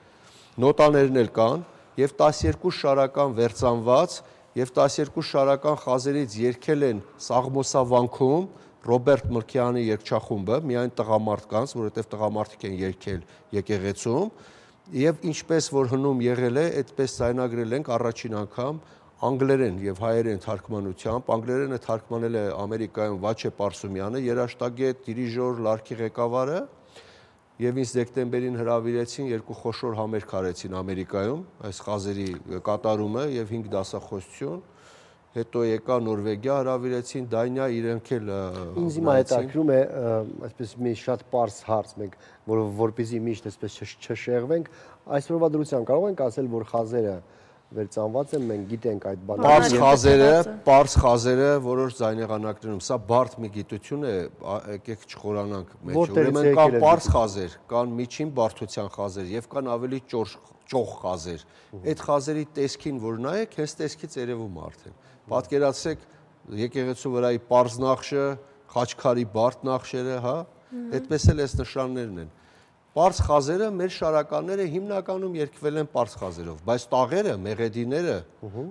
S9: նոտաներն էլ կան, եւ 12 շարական վերցանված եւ 12 շարական խազերից երգել են Սաղմոսավանքում Ռոբերտ Մրկյանի երգչախումբը, միայն տղամարդկանց, որովհետեւ տղամարդիկ են երգել եկեղեցում, եւ ինչպես որ հնում եղել է, այդպես ձայնագրել ենք առաջին անգամ անգլերեն եւ հայերեն թարգմանությամբ, անգլերենը թարգմանել է Ամերիկայում Վաչե Պարսումյանը, երաժշտագետ, դիրիժոր, լարքի ղեկավարը, եւ ինձ դեկտեմբերին հրավիրեցին երկու խոշոր համերգ արեցին Ամերիկայում, այս խազերի կատարումը եւ 5 դասախոսություն, հետո եկա Նորվեգիա հրավիրեցին, Դանիա իրենք էլ
S2: ինձ հիմա հետաքրում է, այսպես մի շատ պարզ հարց մենք, որպեսզի միշտ այսպես չշեղվենք, այսօրվա դրությամբ կարող ենք ասել, որ խազերը վերծանված են, մենք գիտենք այդ բանը։
S9: Պարզ խազերը որոշ ձայնեղանակներում, սա բարդ մի գիտություն է, եկեք չխորանանք մեջ։ Ուրեմն կան պարզ խազեր, կան միջին բարդության խազեր եւ կան ավելի ճոխ խազեր։ Այդ խազերի տեսքին որ նայեք, հենց տեսքից երևում է արդեն։ Պատկերացրեք եկեղեցու վրայի պարզ նախշը, խաչքարի բարդ նախշերը, հա, այդպես էլ այս նշաններն են։ Պարզ խազերը մեր շարականները հիմնականում երգվել են պարզ խազերով, բայց տաղերը, մեղեդիները,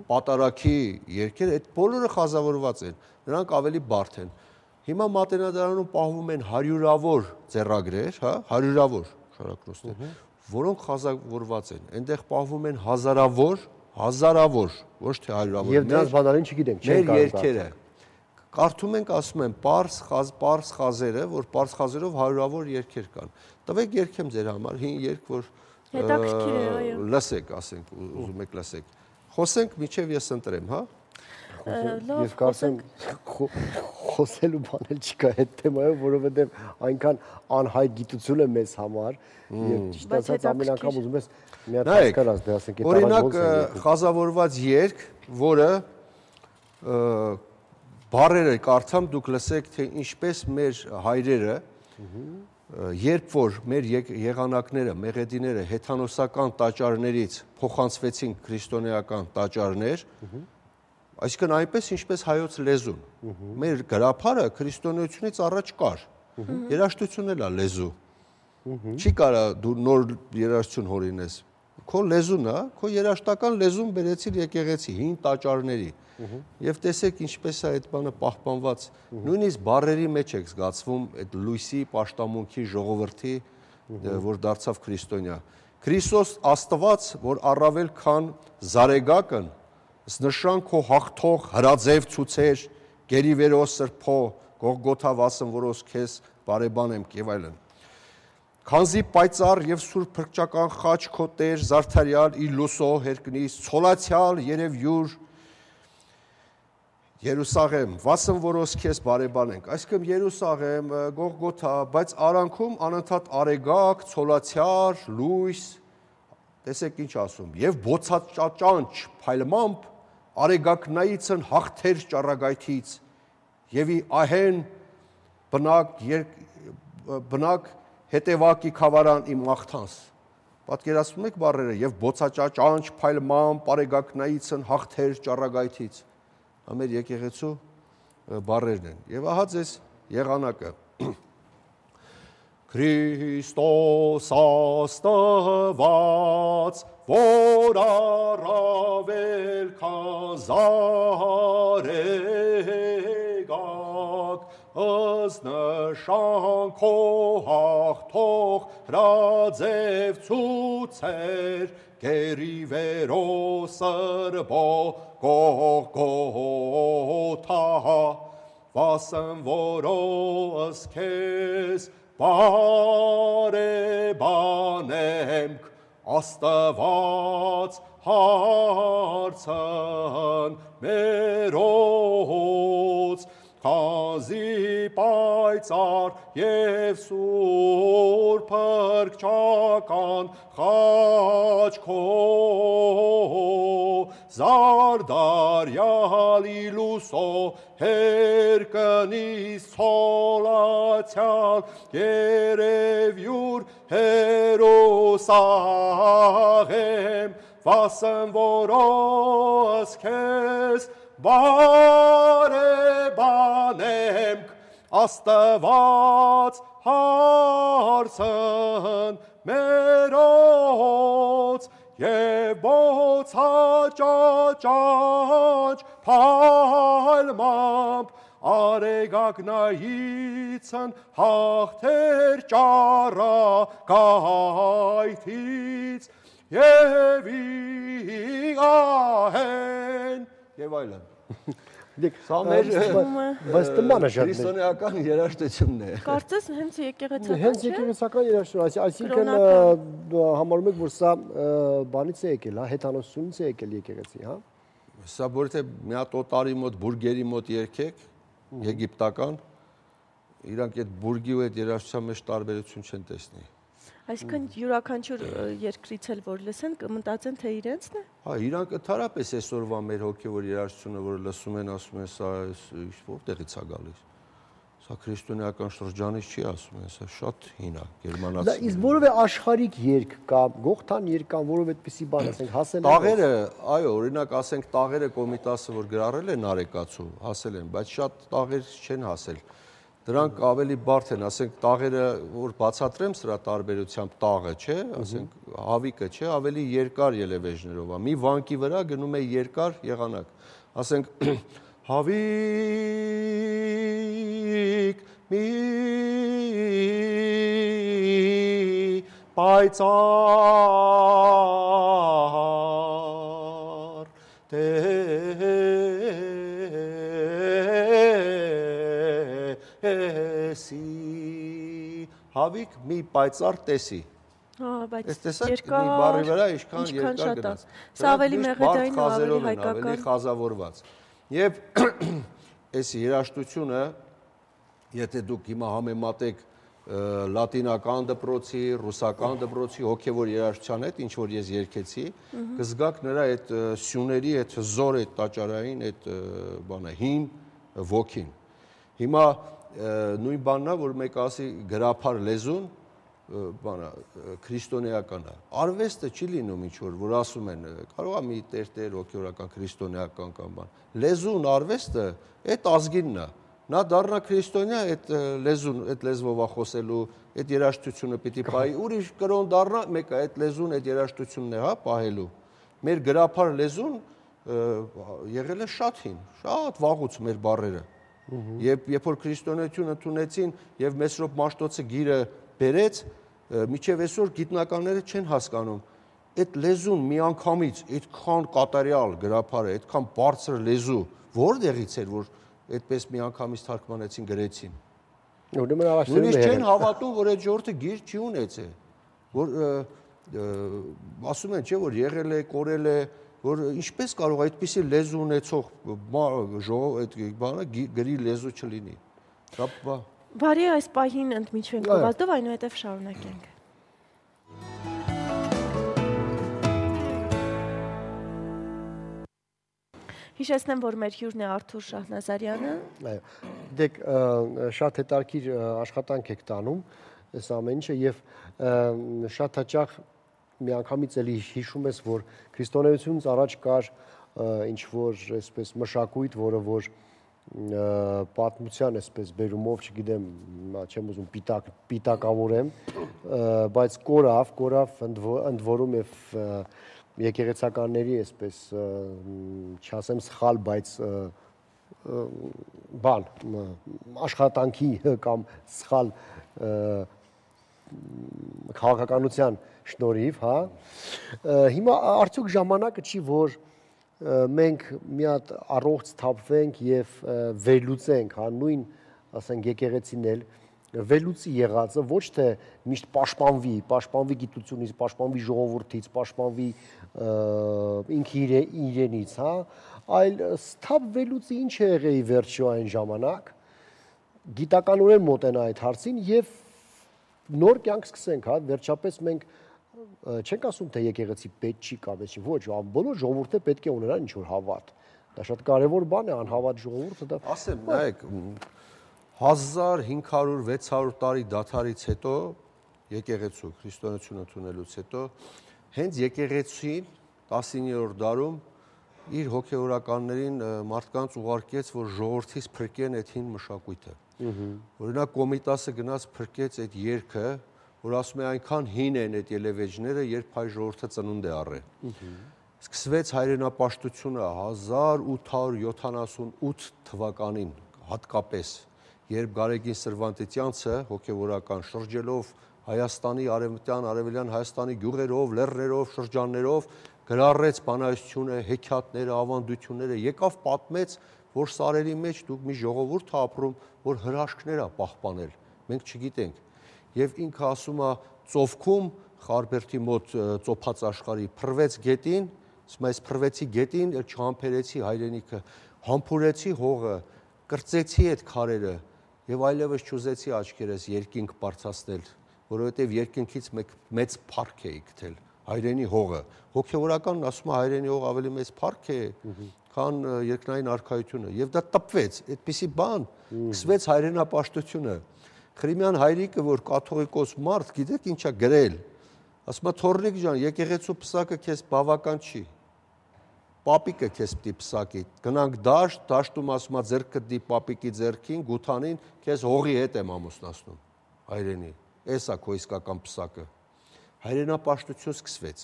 S9: պատարակի երգերը, այդ բոլորը խազավորված են, նրանք ավելի բարդ են։ Հիմա Մատենադարանում պահվում են հարյուրավոր ձեռագրեր, հա, հարյուրավոր շարակրոստներ, որոնք խազավորված են։ Այնտեղ պահվում են հազարավոր, ոչ թե հարյուրավոր։
S2: Եվ դրանց բանալին չգիտենք,
S9: չեն կարող երգերը։ Կարդում ենք, ասում են, պարզ խազերը, որ պարզ խազերով հարյուրավոր երգեր կան։ Տվեք երգեմ ձեր համար, հին երգ, որ լսեք, ասենք, ուզում եք լսեք։ Խոսենք, միջև ես ընտրեմ, հա։
S2: Ես կարծեմ խոսելու բան էլ չկա այդ թեմայով, որովհետև այնքան անհայտ գիտություն է մեզ համար, եւ ճիշտ ասած ամեն անգամ ուզում ես մի հատ հասկանաս, դե ասենք այդ
S9: օրինակ խազավորված երգ, որը բառերը կարդամ դուք լսեք, թե ինչպես մեր հայրերը, երբ որ մեր եղանակները, մեղեդիները հեթանոսական տաճարներից փոխանցվեցին քրիստոնեական տաճարներ, այսինքն այնպես ինչպես հայոց լեզուն։ Մեր գրաբարը քրիստոնեությունից առաջ կար։ Երաժշտությունն էլ է լեզու։ Չի կարա դու նոր երաժշտություն հորինես։ Քո լեզուն է, քո երաժշտական լեզուն բերեցիր եկեղեցի, հին տաճարների։ Եվ տեսեք ինչպես է այդ բանը պահպանված։ Նույնիսկ բառերի մեջ եք զգացվում այդ լույսի, պաշտամունքի, ժողովրդի, որ դարձավ քրիստոնյա։ Քրիստոս Աստված, որ առավել քան Զարեգակն նշան քո հաղթող հրաձև ցուցեր, գերիվերո սրբո, Գողգոթա վասն որոս քեզ բարեբանեմ եւ այլն։ Քանզի պայծառ եւ սուրբ փրկչական խաչ քո Տեր Զարդարյալ Իլուսո հերկնիս ցոլացյալ երևյուր Երուսաղեմ, վասն որոս քեզ բարեբանենք։ Այսինքն Երուսաղեմ, Գողգոթա, բայց արանքում անընդհատ արեգակ, ցոլացյալ, լույս, տեսեք ինչ ասում, եւ բոցաճաճանչ փայլմամբ արեգակնայիցն հաղթեր ճառագայթից եւ ահեն բնակ հետևակի խավարան իմ աղթանս։ Պատկերացնում եք բառերը եւ բոցաճաճանչ փայլմամբ արեգակնայիցն հաղթեր ճառագայթից։ Ամեր եկեղեցու բառերն են։ Եվ ահա ձեզ եղանակը։ Քրիստոս Աստված, որ առավել քան Զարեգակ, ըստ քո հաղթող հրաձև ցուցեր, գերիվերո սրբո Գողգոթա, վասն որոս քեզ բարեբանենք, Աստված հարցն մերոց, քանզի պայծառ եւ սուրբ փրկչական խաչ քո Զարդարյալ Իլուսո հերկնիս ցոլացյալ երևյուր Երուսաղեմ, վասն որոս քեզ բարեբանենք, Աստված հարցն մերոց եւ բոցաճաճանչ փայլմամբ արեգակնայիցն հաղթեր ճառագայթից եւ ահեն եւ այլն։
S2: Սա մեր
S9: քրիստոնեական երաժշտությունն է։
S1: Կարծես հենց եկեղեցական չէ։
S2: Հենց եկեղեցական երաժշտություն, այսինքն համարում եք, որ սա բանից է եկել, հա, հեթանոսությունից է եկել եկեղեցի, հա։
S9: Սա որ թե մի հատ օտարի մոտ, բուրգերի մոտ երգեք, եգիպտական, իրանք այդ բուրգի ու այդ երաժշտության մեջ տարբերություն չեն տեսնի։
S1: Այսինքն յուրաքանչյուր երկրից էլ որ լսեն, կմտածեն թե իրենցն է։
S9: Հա, իրանք ընդհանրապես այսօրվա մեր հոգևոր երաժշտությունը, որ լսում են, ասում են, սա որտեղից է գալիս։ Սա քրիստոնեական շրջանից չի ասում են, սա շատ հին է, գերմանացի։
S2: Իսկ որևէ աշխարհիկ երգ կամ գողթան երգ կամ որևէ այդպիսի բան, ասենք, հասել են։
S9: Տաղերը, այո, օրինակ ասենք տաղերը Կոմիտասը որ գրառել են Արեկացու, հասել են, բայց շատ տաղեր չեն հասել։ Դրանք ավելի բարդ են, ասենք տաղերը, որ բացատրեմ սրա տարբերությամբ տաղը, չէ, ասենք հավիկը, չէ, ավելի երկար ելևեժներով է։ Մի վանկի վրա գնում է երկար եղանակ։ Ասենք հավիկ մի պայծառ տեսի, հավիկ մի պայծառ տեսի։
S1: Բայց
S9: երկար, մի բառի վրա ինչքան երկար գնաց։
S1: Սա ավելի մեղեդային ու ավելի հայկական,
S9: ավելի խազավորված։ Եվ այս երաժշտությունը, եթե դուք հիմա համեմատեք լատինական դպրոցի, ռուսական դպրոցի հոգևոր երաժշտության հետ, ինչ որ ես երգեցի, կզգաք նրա այդ սյուների, այդ հզոր, այդ տաճարային, այդ բանը հին ոգին։ Հիմա նույն բանն է, որ մեկ ասի գրափար լեզուն, բանը քրիստոնեական է։ Արվեստը չի լինում ինչ որ ասում են, կարող է մի տեր հոգևորական քրիստոնեական կամ բան։ Լեզուն, արվեստը այդ ազգինն է։ Նա դառնա քրիստոնյա, այդ լեզուն, այդ լեզվով է խոսելու, այդ երաժշտությունը պիտի պահի, ուրիշ կրոն դառնա, մեկը այդ լեզուն, այդ երաժշտությունն է, հա, պահելու։ Մեր գրափար լեզուն եղել է շատ հին, շատ վաղուց մեր բառերը։ Երբ որ քրիստոնեություն ընդունեցին եւ Մեսրոպ Մաշտոցը գիրը բերեց, միջև այսօր գիտնականները չեն հասկանում այդ լեզուն միանգամից այդքան կատարյալ գրափարը, այդքան բարձր լեզու որտեղից էր, որ այդպես միանգամից թարգմանեցին գրեցին։ Նույնիսկ չեն հավատում, որ այդ ժողովուրդը գիր չի ունեցել, որ ասում են, չէ, որ եղել է, կորել է, որ ինչպես կարող է այդպիսի լեզու ունեցող ժողով այդ բանը գրի լեզու չլինի։
S1: Բարի այս պահին ընդմիջվենք գովազդով, այնուհետև շարունակենք։ Հիշեցնեմ, որ մեր հյուրն է Արթուր Շահնազարյանը։
S2: Այո, դեք շատ հետաքրքիր աշխատանք եք տանում այս ամեն ինչը եւ շատ հաճախ միանգամից էլի հիշում ես, որ քրիստոնեությունից առաջ կար ինչ որ այսպես մշակույթ, որը որ պատմության այսպես բերումով, չգիտեմ, չեմ ուզում պիտակավորեմ, բայց կորավ ընդ որում եւ եկեղեցականների այսպես չասեմ սխալ, բայց բան աշխատանքի կամ սխալ քաղաքականության շնորհիվ, հա։ Հիմա արդյոք ժամանակը չի, որ մենք մի հատ առողջ թափվենք եւ վերլուծենք, հա, նույն, ասենք, եկեղեցին էլ վերլուծի եղածը, ոչ թե միշտ պաշտպանվի գիտությունից, պաշտպանվի ժողովրդից, պաշտպանվի ինքը իրենից, հա, այլ սթափ վերլուծի ինչ է եղել վերջո այն ժամանակ, գիտականորեն մոտենա այդ հարցին եւ նոր կյանք սկսենք, հա, վերջապես մենք չենք ասում թե եկեղեցի պետք չի կամ չի, ոչ, բոլոր ժողովուրդը պետք է ունենան ինչ որ հավատ։ Դա շատ կարևոր բան է, անհավատ ժողովուրդը դա։
S9: Ասեմ, նայեք, 1500-600 տարի դադարից հետո եկեղեցու քրիստոնեություն ընդունելուց հետո հենց եկեղեցին 19-րդ դարում իր հոգևորականներին մարդկանց ուղարկեց, որ ժողովրդից փրկեն այդ հին մշակույթը։ Օրինակ Կոմիտասը գնաց փրկեց այդ երգը, որ ասում է այնքան հին են այդ ելևեջները, երբ հայ ժողովուրդը ծնունդ է առել։ Սկսվեց հայրենապաշտությունը 1878 թվականին հատկապես, երբ Գարեգին Սրվանտետյանցը հոգևորական շրջելով Հայաստանի արևելյան Հայաստանի գյուղերով, լեռներով, շրջաններով գրառեց բանահյուսությունը, հեքիաթները, ավանդությունները, եկավ պատմեց, որ սարերի մեջ դուք մի ժողովուրդ է ապրում, որ հրաշքներ է պահպանել, մենք չգիտենք։ Եվ ինքը ասում է ծովքում Խարբերդի մոտ ծոփած աշխարհի փռվեց գետին, ասում է այս փռվեցի գետին, չհամբերեցի հայրենիքը, համբուրեցի հողը, կրծեցի այդ քարերը եւ այլևս չուզեցի աչքերս երկինք բարձրացնել որովհետև երկնքից մեծ փառք էի գտել հայրենի հողը։ Հոգևորականն ասում է հայրենի հող ավելի մեծ փառք է, քան երկնային արքայությունը, եւ դա տպվեց, այդպիսի բան, սկսվեց հայրենապաշտությունը։ Խրիմյան հայրիկը, որ կաթողիկոս մարդ, գիտեք ինչա գրել, ասում է թոռնիկ ջան, եկեղեցու պսակը քեզ բավական չի, պապիկը քեզ պիտի պսակի, գնանք դաշտ, դաշտում ասում է ձեռքը դի պապիկի ձեռքին, գութանին, քեզ հողի հետ եմ ամուսնացնում, հայրենի, էս է քո իսկական պսակը։ Հայրենապաշտություն սկսվեց։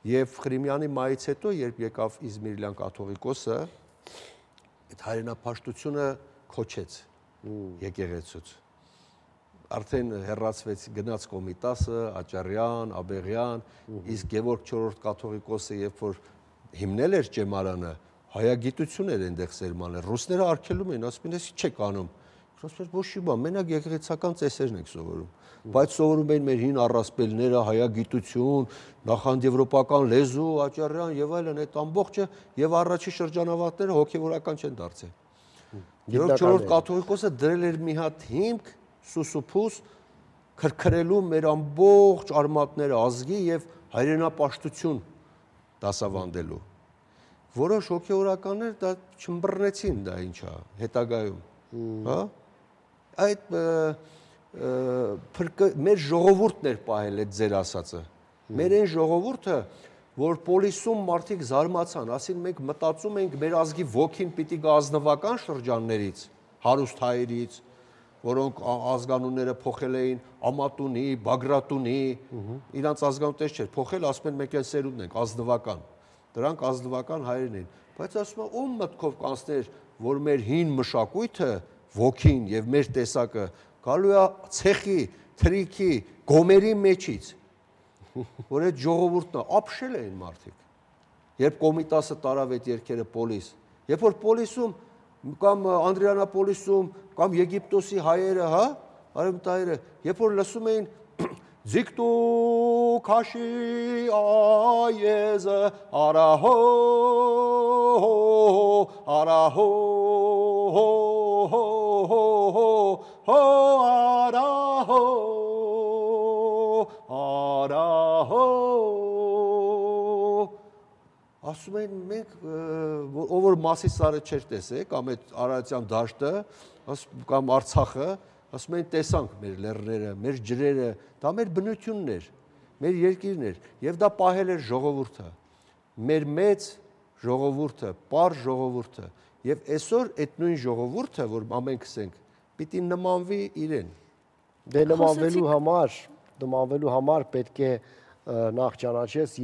S9: Եվ Խրիմյանի մայից հետո, երբ եկավ Իզմիրլյան կաթողիկոսը, այդ հայրենապաշտությունը քոչեց եկեղեցուց։ Արդեն հեռացվեց գնաց Կոմիտասը, Աճարյան, Աբեղյան, իսկ Գևորգ 4-րդ կաթողիկոսը, երբ որ հիմնել էր ճեմարանը, հայագիտություն էր այնտեղ սերմանել, ռուսները արգելում էին, ասում են, «Էս չեք անում»։ Ոչ մի բան, մենակ եկեղեցական ծեսերն եք սովորում, բայց սովորում էին մեր հին առասպելները, հայագիտություն, նախանձեվրոպական լեզու, Աճարյան եւ այլն, այդ ամբողջը եւ առաջի շրջանավարտները հոգեվորական չեն դարձել։ Գևորգ 4-րդ կաթողիկոսը դրել էր մի հատ հիմք, սուսուփուս քրքրելու մեր ամբողջ արմատները ազգի եւ հայրենապաշտություն դասավանդելու։ Որոշ հոգեվորականներ դա չմբռնեցին, դա ինչա, հետագայում, հա։ Այդ մեր ժողովուրդն էր պահել այդ ձեր ասածը։ Մեր այն ժողովուրդը, որ պոլիսում մարդիկ զարմացան, ասին մենք մտածում ենք մեր ազգի ոգին պիտի գա ազնվական շրջաններից, հարուստ հայերից, որոնք ազգանունները փոխել էին Ամատունի, Բագրատունի, իրանց ազգանուններ չէր, փոխել, ասում են մենք այն սերունդն ենք, ազնվական։ Դրանք ազնվական հայերն են, բայց ասում են ում մտքով կանցներ, որ մեր հին մշակույթը, ոգին եւ մեր տեսակը գալու է ցեխի, թրիքի, գոմերի մեջից, որ այդ ժողովուրդն ապշել էին մարդիկ։ Երբ Կոմիտասը տարավ այդ երկերը պոլիս, երբ որ պոլիսում կամ Անդրեանապոլիսում կամ Եգիպտոսի հայերը, հա, արևմտահայերը, երբ որ լսում էին Ձիկտու քաշի այեզը արահո արահո արահո արահո ասում են մենք ով որ Մասիսարը չէր տեսել կամ այդ Արարատյան դաշտը կամ Արցախը ասում են տեսանք մեր լեռները, մեր ջրերը, դա մեր բնությունն էր, մեր երկիրն էր եւ դա պահել էր ժողովուրդը, մեր մեծ ժողովուրդը, պար ժողովուրդը եւ այսօր այդ նույն ժողովուրդը, որ ամենքս ենք, պիտի նմանվի իրեն։
S2: Դե նմանվելու համար պետք է նախ ճանաչես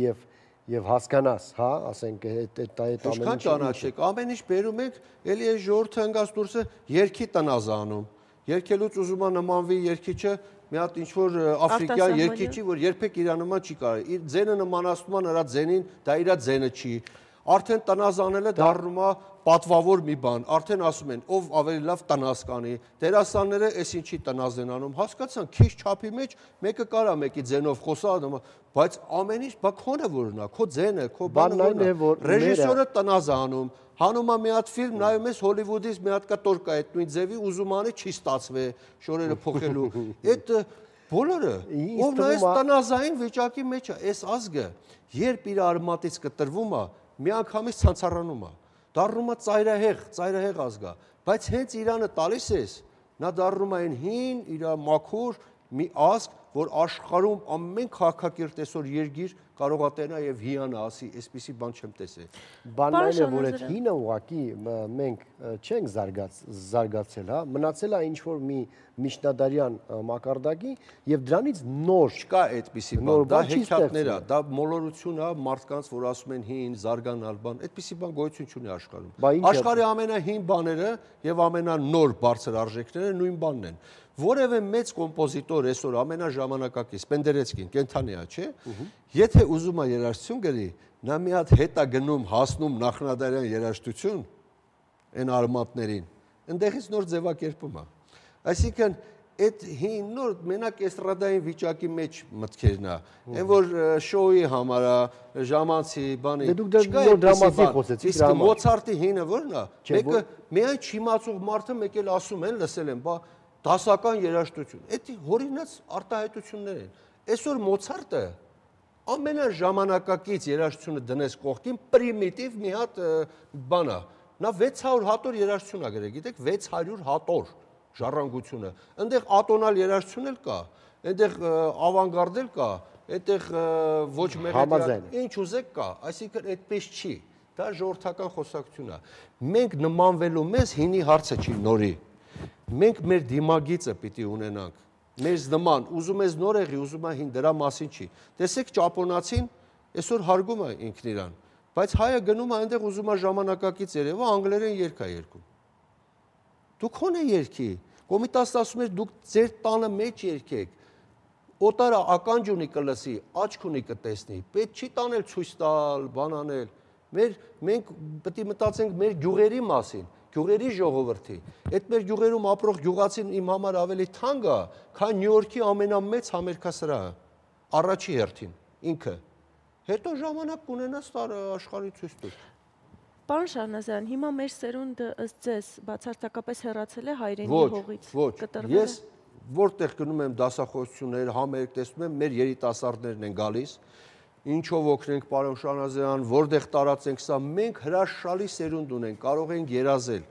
S2: եւ հասկանաս, հա, ասենք այդ ամենը։
S9: Ինչքան ճանաչեք, ամեն ինչ բերում եք, էլի այս ժողովուրդը ընկած դուրսը երկի տնազանում։ Երկելուց ուզում է նմանվի երկիչը մի հատ ինչ-որ աֆրիկյան երկիչի, որ երբեք իր նման չի կարող։ Իր ձենը նմանացնում է նրա ձենին, դա իր ձենը չի։ Արդեն տնազանելը դառնում է պատվավոր մի բան, արդեն ասում են, ով ավելի լավ տնազ կանի, դերասանները էս ինչի տնազ են անում, հասկացան, քիչ չափի մեջ մեկը կարա մեկի ձենով խոսա, բայց ամեն ինչ բա քոնը որն է, քո ձենը, քո բանը որն է, ռեժիսորը տնազ է անում, հանում է մի հատ ֆիլմ, նայում ես Հոլիվուդից մի հատ կտոր կա այդ նույն ձևի, ուզում անի չի ստացվի, շորերը փոխելու, այդ բոլորը, ով նայես տնազային վիճակի մեջ է, այս ազգը, երբ իր արմատից կտրվում է, միանգամից ցանցառանում է, դառնում է ծայրահեղ ազգա, բայց հենց Իրանը տալիս ես, նա դառնում է այն հին, իր մաքուր մի ազգ, որ աշխարհում ամեն քաղաքակիրթ այսօր երգիր կարող է տենա եւ հիանա, ասի, այսպիսի բան չեմ տեսել։
S2: Բանն այն է, որ այդ հինը ուղղակի մենք չենք զարգացել, հա, մնացել է ինչ որ մի միջնադարյան մակարդակի եւ դրանից նոր
S9: չկա այդպիսի բան, դա հեքիաթներ է, դա մոլորություն է, մարդկանց, որ ասում են հին, զարգանալ բան, այդպիսի բան գոյություն չունի աշխարհում։ Աշխարհի ամենահին բաները եւ ամենանոր բարձր արժեքները նույն բանն են։ Որևէ մեծ կոմպոզիտոր այսօր ամենաժամանակակից Պենդերեցկին կենթանի է, չէ՞։ Եթե ուզում է երաժշտություն գրի, նա մի հատ հետ է գնում, հասնում նախնադարյան երաժշտություն այն արմատներին, այնտեղից նոր ձևակերպում է։ Այսինքն այդ հին նոր մենակ էստրադային վիճակի մեջ մտքերն է, այն որ շոուի համար է, ժամանցի բանի,
S2: չկա դրամատիկ խոսեցի,
S9: իսկ Մոցարտի հինը որն է, մեկը միայն չիմացող մարդը մեկ էլ ասում են, լսել են, բա դասական երաժշտություն։ Այդ հորինած արտահայտություններ են։ Այսօր Մոցարտը ամենաժամանակակից երաժշտությունը դնես կողքին պրիմիտիվ մի հատ բան է։ Նա 600 հատոր երաժշտություն է գրել, գիտեք, 600 հատոր ժառանգությունը։ Այնտեղ ատոնալ երաժշտություն էլ կա, այնտեղ ավանգարդ էլ կա, այնտեղ ոչ մեղեդիան, ինչ ուզեք կա, այսինքն այդպես չի։ Դա ժողովրդական խոսակցություն է։ Մենք նմանվելու մեզ հինի հարցը չի նորի։ Մենք մեր դիմագիծը պիտի ունենանք։ Մեզ նման, ուզում ես նոր եղի, ուզում է հին, դրա մասին չի։ Տեսեք ճապոնացին այսօր հարգում է ինքն իրան, բայց հայը գնում է այնտեղ ուզում է ժամանակակից երևա անգլերեն երգ է երգում։ Դուք ո՞ն է երգի։ Կոմիտասը ասում էր դուք ձեր տանը մեջ երգեք։ Օտարը ականջ ունի կլսի, աչք ունի կտեսնի։ Պետք չի տանել ցույց տալ, բան անել։ Մենք պետք է մտածենք մեր գյուղերի մասին, գյուղերի ժողովրդի։ Այդ մեր գյուղերում ապրող գյուղացին իմ համար ավելի թանկ է, քան Նյու Յորքի ամենամեծ համերգասրահը, առաջի հերթին, ինքը։ Հետո ժամանակ կունենաս աշխարհի ցույց տուր։
S1: Պարոն Շահնազարյան, հիմա մեր սերունդը ըստ ձեզ բացարձակապես հեռացել է հայրենի հողից։
S9: Ոչ, ես որտեղ գնում եմ դասախոսություններ, համերգ տեսնում եմ, մեր երիտասարդներն են գալիս, ինչով օգնենք պարոն Շահնազարյան, որտեղ տարածենք սա, մենք հրաշալի սերունդ ունենք, կարող ենք երազել։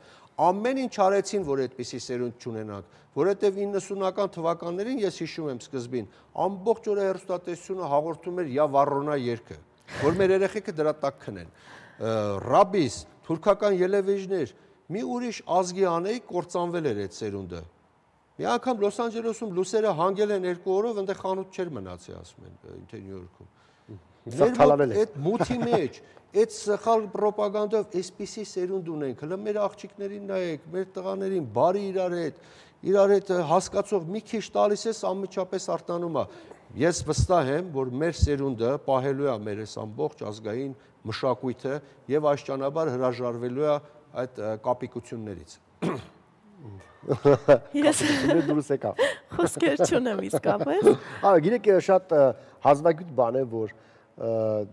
S9: Ամեն ինչ արեցին, որ այդպիսի սերունդ չունենանք, որովհետև 90-ական թվականներին ես հիշում եմ սկզբին, ամբողջ օրը հեռուստատեսությունը հաղորդում էր «Յա Վառոնա» երգը, որ մեր երեխեքը դրա տակ քնեն։ Ռաբիս, թուրքական ելևեժներ, մի ուրիշ ազգի անեի կործանվել էր այդ սերունդը։ Մի անգամ Լոս Անջելեսում լուսերը հանգել են 2 օրով, այնտեղ խանութ չէր մնացի, ասում են, թե Նյու Յորքում։ Այդ մութի մեջ, այդ սխալ պրոպագանդով այսպիսի սերունդ ունենք, հլը մեր աղջիկներին նայեք, մեր տղաներին, բարի իրար հետ հասկացող մի քիչ տալիս ես անմիջապես արտանում է։ Ես վստահ եմ, որ մեր սերունդը պահելու է մեր այս ամբողջ ազգային մշակույթը եւ աշճանաբար հրաժարվելու է այդ կապիկություններից։
S1: Ես
S2: դուրս եկա։
S1: խոսքեր չունեմ իսկապես։
S2: Գիտեք, շատ հազվագյուտ բան է, որ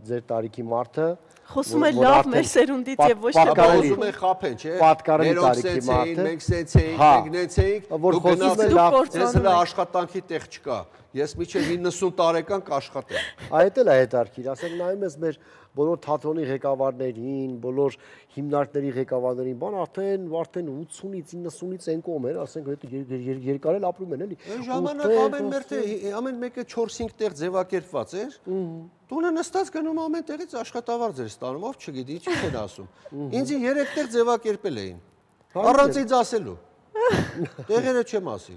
S2: ձեր տարիքի մարդը
S1: խոսում է լավ մեր սերունդից եւ ոչ թե
S9: ուզում է խափեն, չէ։
S2: Պատկառի տարիքի մարդը
S9: մենք սենց էինք, մենք նենց էինք,
S2: որ խոսում է լավ,
S9: ես հələ աշխատանքի տեղ չկա։ Ես միջև 90 տարեկան կաշխատեմ։
S2: Այդ էլ է հետարքիր, ասենք նայում ես մեր բոլոր թատրոնի ղեկավարներին, բոլոր հիմնարկների ղեկավարներին, բան արդեն 80-ից 90-ից են կողմ էր, ասենք երկար էլ ապրում են, էլի։
S9: Այն ժամանակ ամեն մեկը 4-5 տեղ ձևակերպված էր։ Տունը նստած գնում ամեն տեղից աշխատավարձ էր ստանում, ով չգիտի, ինչ են ասում։ Ինձ 3 տեղ ձևակերպել էին։ Առանց ինձ ասելու։ Տեղերը չեմ ասի։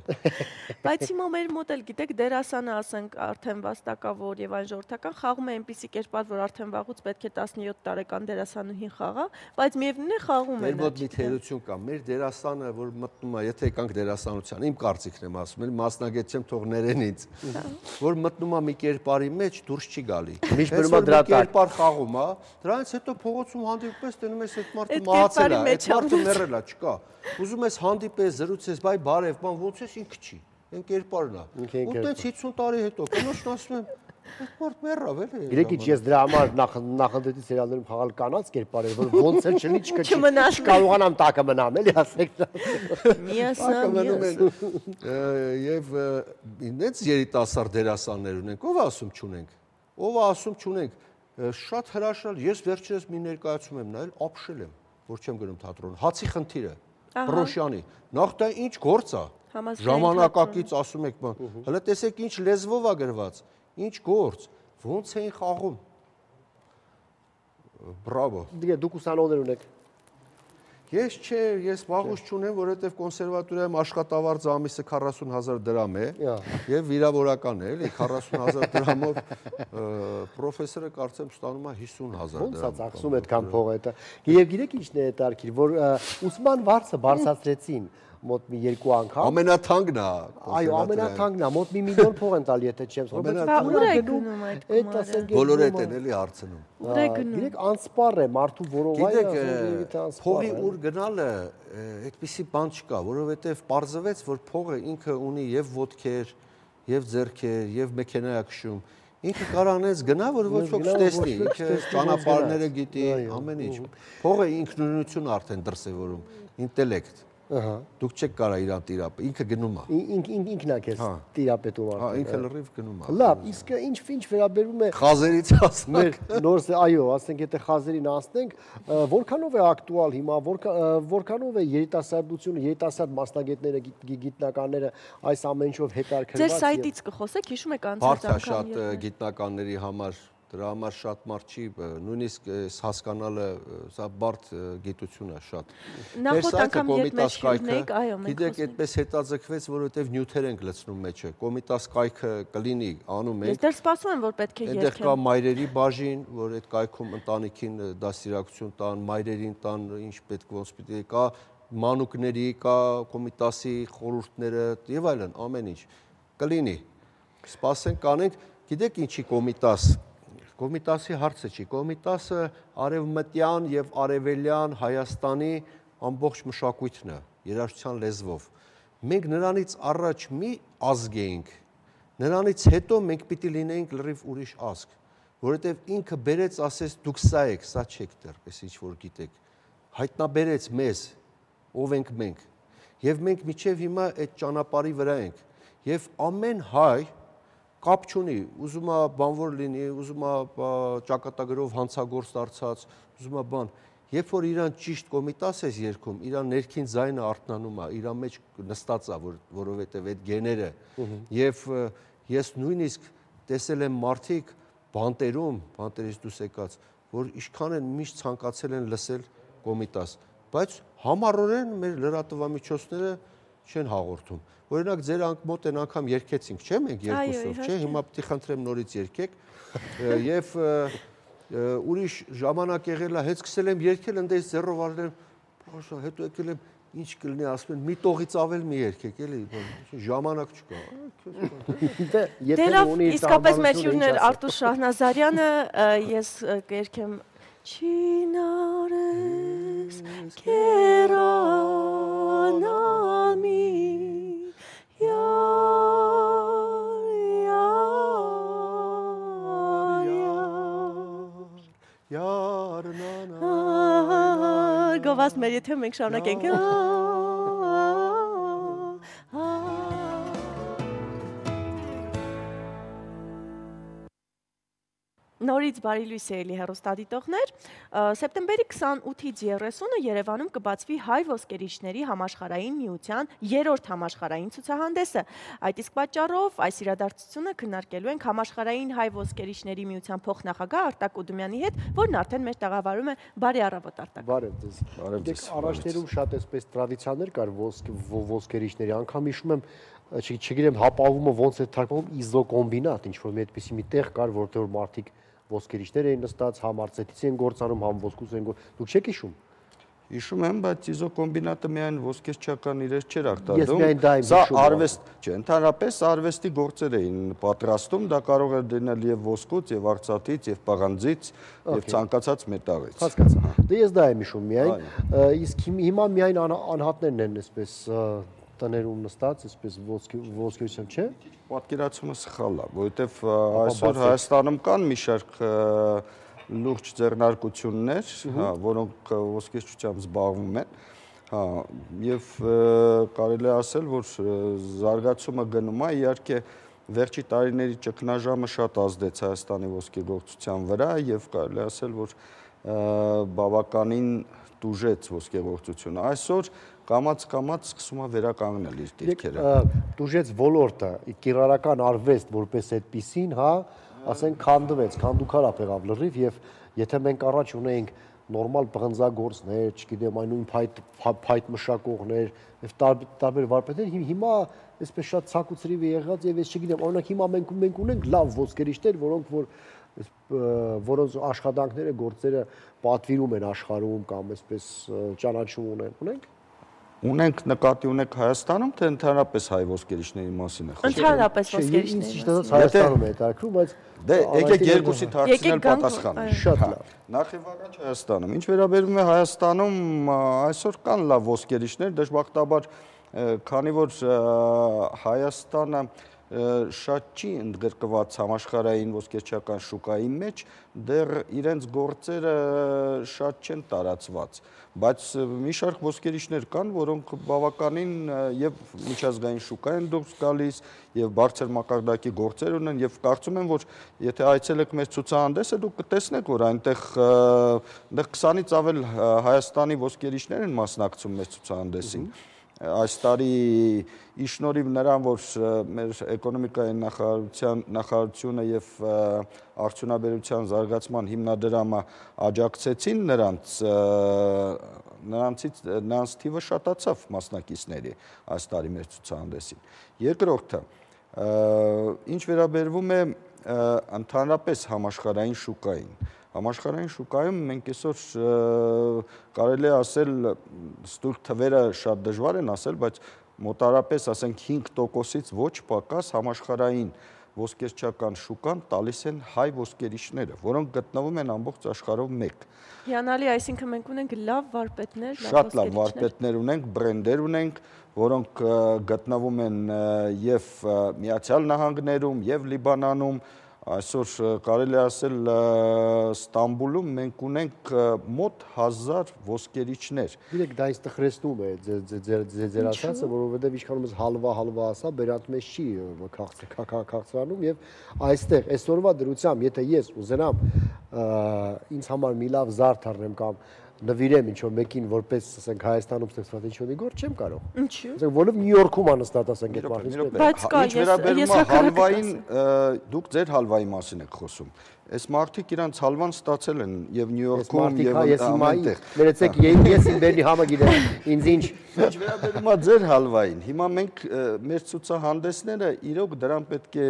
S1: Բայց հիմա մեր մոտ էլ գիտեք դերասանը ասենք արդեն վաստակավոր եւ այն ժողովրդական խաղում է այնպիսի կերպար, որ արդեն վաղուց պետք է 17 տարեկան դերասանուհին խաղա, բայց միևնույն է խաղում է։
S9: Մեր մոտ մի թերություն կա, մեր դերասանը, որ մտնում է, եթե եկանք դերասանության, իմ կարծիքն եմ ասում, մասնագետ չեմ, թող ներեն ինձ, որ մտնում է մի կերպարի մեջ, դուրս չի գալի։
S2: Միշտ մնում է դրա տակ։
S9: Կերպար խաղում է, դրանից հետո փողոցում հանդիպես, տենում ես այդ մարդը մահացել է, այդ մարդը մեռել է, չկա։ Ուզում ես հանդիպես, զրուցես, բայ բարև, բան ոնց ես ինքը չի։ Այն կերպարն է։ Ու տենց 50 տարի հետո կնոջն ասում եմ, այդ մարդ մեռավ էլի։
S2: Գիտեք ինչ, ես դրա համար նախնդետի սերիալներում խաղալ կանանց կերպար էր, որ ոնց էլ չլի չկարողանամ տակը մնամ, էլի ասեք։
S9: Եվ ինձ երիտասարդ դերասաններ ունենք, ով ասում չունենք։ Ով ասում չունենք։ Շատ հրաշալ, ես վերջերս մի ներկայացում եմ նայել, ապշել եմ, որ չեմ գնում թատրոն։ Հացի խնդիրը։ Պրոշյանի։ Նախ դա ինչ գործ է։ Ժամանակակից ասում եք բան։ Հələ տեսեք ինչ լեզվով է գրված, ինչ գործ, ոնց էին խաղում։ Բրավո։
S2: Դուք ուսանողներ ունեք։
S9: Ես չէ, ես վաղուց չունեմ, որովհետև կոնսերվատորիայում աշխատավարձ ամիսը 40,000 դրամ է եւ վիրավորական է, էլի 40,000 դրամով պրոֆեսորը կարծեմ ստանում է 50,000 դրամ։
S2: Ոնց է ծախսում այդքան փող դա։ Եվ գիտեք ինչն է հետարքիր, որ ուսման վարձը բարձրացրեցին մոտ մի 2 անգամ։
S9: Ամենաթանկն է։
S2: Այո, ամենաթանկն է, մոտ 1 միլիոն փող են տալի, եթե չեմ
S1: սխալվում։
S9: Բոլորը այդ են էլի հարցնում։
S2: Գիտեք, անսպառ է մարդու որովայը,
S9: գիտեք, փողի ուր գնալը այդպիսի բան չկա, որովհետև պարզվեց, որ փողը ինքը ունի եւ ոտքեր, եւ ձեռքեր, եւ մեքենա է քշում։ Ինքը կարողանեց գնա, որ ոչ ոք չտեսնի, ինքը ճանապարհները գիտի, ամեն ինչ։ Փողը ինքնուրույնություն արդեն դրսևորում, ինտելեկտ։ Դուք չեք կարող իրան տիրապետել, ինքը գնում է։
S2: Ինքն է քեզ տիրապետում
S9: արդեն։ Հա, ինքը լրիվ գնում է։
S2: Լավ, իսկ ինչ վերաբերում է
S9: խազերից ասենք,
S2: նոր այո, ասենք եթե խազերին անցնենք, որքանով է ակտուալ հիմա, որքանով է երիտասարդությունը, երիտասարդ մասնագետները, գիտնականները այս ամեն ինչով հետաքրքրված։
S1: Ձեր սայթից կխոսեք, հիշում եք
S9: անցած անգամ շատ գիտնականների համար դրա համար շատ մարդ չի, նույնիսկ հասկանալը սա բարդ գիտություն է շատ։
S1: Նախորդ անգամ երբ մեզ շիրնեիք, այո, մենք
S9: գիտեք, այդպես հետաձգվեց, որովհետև նյութեր ենք լցնում մեջը, կոմիտաս կայքը կլինի, անում ենք։
S1: Ես դեռ սպասում եմ, որ պետք է
S9: երկեմ։ Այնտեղ կա մայրերի բաժին, որ այդ կայքում ընտանիքին դաստիարակություն տան, մայրերին տան, ինչ պետք ոնց պիտի կա, մանուկների, կա կոմիտասի խորհուրդները եւ այլն, ամեն ինչ կլինի։ Սպասենք, կանենք, գիտեք ինչի կոմիտաս Կոմիտասի հարցը չի, Կոմիտասը արևմտյան և արևելյան Հայաստանի ամբողջ մշակույթն է, երաժշտության լեզվով։ Մենք նրանից առաջ մի ազգ էինք, նրանից հետո մենք պիտի լինեինք լրիվ ուրիշ ազգ, որովհետև ինքը բերեց, ասես դուք սա եք, սա չեք դեռ, պես ինչ որ գիտեք, հայտնաբերեց մեզ, ով ենք մենք, և մենք մինչև հիմա այդ ճանապարհի վրա ենք, և ամեն հայ կապ չունի, ուզում է բանվոր լինի, ուզում է ճակատագրով հանցագործ դարձած, ուզում է բան։ Երբ որ իրան ճիշտ կոմիտաս ես երգում, իրան ներքին ձայնը արթնանում է, իրան մեջ նստած է, որովհետև այդ գեները։ Եվ ես նույնիսկ տեսել եմ մարդիկ բանտերում, բանտերից դուրս եկած, որ ինչքան են միշտ ցանկացել են լսել կոմիտաս, բայց համառորեն մեր լրատվամիջոցները չեն հաղորդում։ Օրինակ ձեր մոտ են անգամ երգեցինք, չէ՞ մենք երկուսով, չէ՞, հիմա պիտի խնդրեմ նորից երգեք եւ ուրիշ ժամանակ եղել է, հետ սկսել եմ երգել, ընդես ձեռով արել եմ, փոշա, հետո եկել եմ, ինչ կլինի, ասում են, մի տողից ավել մի երգեք, էլի, ժամանակ չկա։
S1: Դերավ իսկապես մեր հյուրն Արտուշ Շահնազարյանը, ես կերգեմ Չինարես կերանալմի Գովաս մեր եթե մենք շարունակենք Նորից բարի լույս ելի հեռուստադիտողներ, սեպտեմբերի 28-ից 30-ը Երևանում կբացվի հայ ոսկերիչների համաշխարհային միության 3-րդ համաշխարհային ցուցահանդեսը։ Այդ իսկ պատճառով այս իրադարձությունը քննարկելու ենք համաշխարհային հայ ոսկերիչների միության փոխնախագահ Արտակ Ուդումյանի հետ, որն արդեն մեր տաղավարում է։ Բարի առավոտ Արտակ։
S2: Բարև ձեզ։ Դեք առաջներում շատ էսպես տրադիցիաներ կար ոսկերիչների, անգամ հիշում եմ չգիտեմ հապավումը ոնց է թարգմանվում իզոկոմբինատ, ինչ որ մի այդպիսի մի տեղ կար, որտեղ մարդիկ ոսկերիչներ էին նստած, համ արծեթից են գործանում, համ ոսկուց են գործում։ Դուք չեք հիշում։
S9: Հիշում եմ, բայց իզոկոմբինատը միայն ոսկերչական իրեր չէր արտադրում։
S2: Սա
S9: արվեստ չէ, ընդհանրապես արվեստի գործեր էին պատրաստում, դա կարող էր լինել եւ ոսկուց, եւ արծաթից, եւ պաղանձից, եւ ցանկացած մետաղից։
S2: Հասկացա։ Դե ես դա եմ հիշում միայն, իսկ հիմա միայն անհատներն են այսպես տներում նստած, այսպես ոսկերությամբ, չէ՞։
S9: Պատկերացումը սխալ է, որովհետև այսօր Հայաստանում կան մի շարք լուրջ ձեռնարկություններ, որոնք ոսկերչությամբ զբաղվում են, եւ կարելի է ասել, որ զարգացումը գնում է, իհարկե վերջի տարիների ճգնաժամը շատ ազդեց Հայաստանի ոսկեգործության վրա եւ կարելի է ասել, որ բավականին տուժեց ոսկեգործությունը։ Այսօր կամաց-կամաց սկսում է վերականգնել իր դիրքերը։
S2: Տուժեց ոլորտը, կիրառական արվեստ որպես այդպիսին, հա, ասենք քանդվեց, քանդուքարապ եղավ լրիվ եւ եթե մենք առաջ ունեինք նորմալ բղնձագործներ, չգիտեմ, այն նույն փայտ մշակողներ եւ տարբեր վարպետներ, հիմա այսպես շատ ցակուցրիվ է եղած եւ ես չգիտեմ, օրինակ հիմա մենք ունենք լավ ոսկերիչներ, որոնց աշխատանքները, գործերը պատվիրում են աշխարհում կամ այսպես ճանաչում ունենք։
S9: Ունենք նկատի ունեք Հայաստանում, թե ընդհանրապես հայ ոսկերիչների մասին է խոսքը։
S1: Ընդհանրապես ոսկերիչների
S2: մասին։ Հայաստանում է հետաքրքրում, բայց
S9: դե եկեք երկուսիդ հարցնել պատասխանենք։
S2: Շատ լավ։
S9: Նախ եւ առաջ Հայաստանում։ Ինչ վերաբերում է Հայաստանում, այսօր կան լավ ոսկերիչներ, դժբախտաբար, քանի որ Հայաստանը
S10: շատ չի ընդգրկված համաշխարհային ոսկերչական շուկայի մեջ, դեռ իրենց գործերը շատ չեն տարածված, բայց մի շարք ոսկերիչներ կան, որոնք բավականին եւ միջազգային շուկա են դուրս գալիս եւ բարձր մակարդակի գործեր ունեն եւ կարծում եմ, որ եթե այցելեք մեր ցուցահանդեսը, դուք կտեսնեք, որ այնտեղ 20-ից ավել Հայաստանի ոսկերիչներ են մասնակցում մեր ցուցահանդեսին։ Այս տարի իշնորհիվ նրան, որ մեր էկոնոմիկայի նախարարությունը եւ արդյունաբերության զարգացման հիմնադրամը աջակցեցին նրանց թիվը շատացավ մասնակիցների այս տարի մեր ցուցահանդեսին։ Երկրորդը, ինչ վերաբերվում է ընդհանրապես համաշխարհային շուկային, համաշխարհային շուկայում մենք այսօր կարելի է ասել, ստույգ թվերը շատ դժվար են ասել, բայց մոտարապես ասենք 5%-ից ոչ պակաս համաշխարհային ոսկերչական շուկան տալիս են հայ ոսկերիչները, որոնք գտնվում են ամբողջ աշխարհով մեկ։
S1: Հիանալի, այսինքն մենք ունենք լավ վարպետներ,
S10: շատ լավ վարպետներ ունենք, բրենդեր ունենք, որոնք գտնվում են եւ Միացյալ Նահանգներում, եւ Լիբանանում, այսօր կարելի ասել Ստամբուլում մենք ունենք մոտ 1000 ոսկերիչներ։
S2: Գիտեք, դա ինձ տխրեցնում է ձեր ասածը, որովհետև իշխանում ես հալվա ասա, բերանտ մեզ չի քաղցրանում եւ այստեղ այսօրվա դրությամբ, եթե ես ուզենամ ինձ համար մի լավ զարդ առնեմ կամ նվիրեմ ինչ-որ մեկին որպես, ասենք, Հայաստանում ստեղծված ինչ-որ մի գործ չեմ կարող։
S1: Ինչու՞։
S2: Ասենք, որով Նյու Յորքում անստատ, ասենք, այդ մարդը։
S1: Բայց կա,
S10: ես հալվային, դուք ձեր հալվայի մասին եք խոսում։ Այս մարդիկ իրանց հալվան ստացել են եւ Նյու Յորքում եւ ամենտեղ։
S2: Ներեցեք, ես իմ բերնի համը գիտեմ, ինձ ինչ
S10: վերաբերում է ձեր հալվային։ Հիմա մենք մեր ցուցահանդեսները իրոք դրան պետք է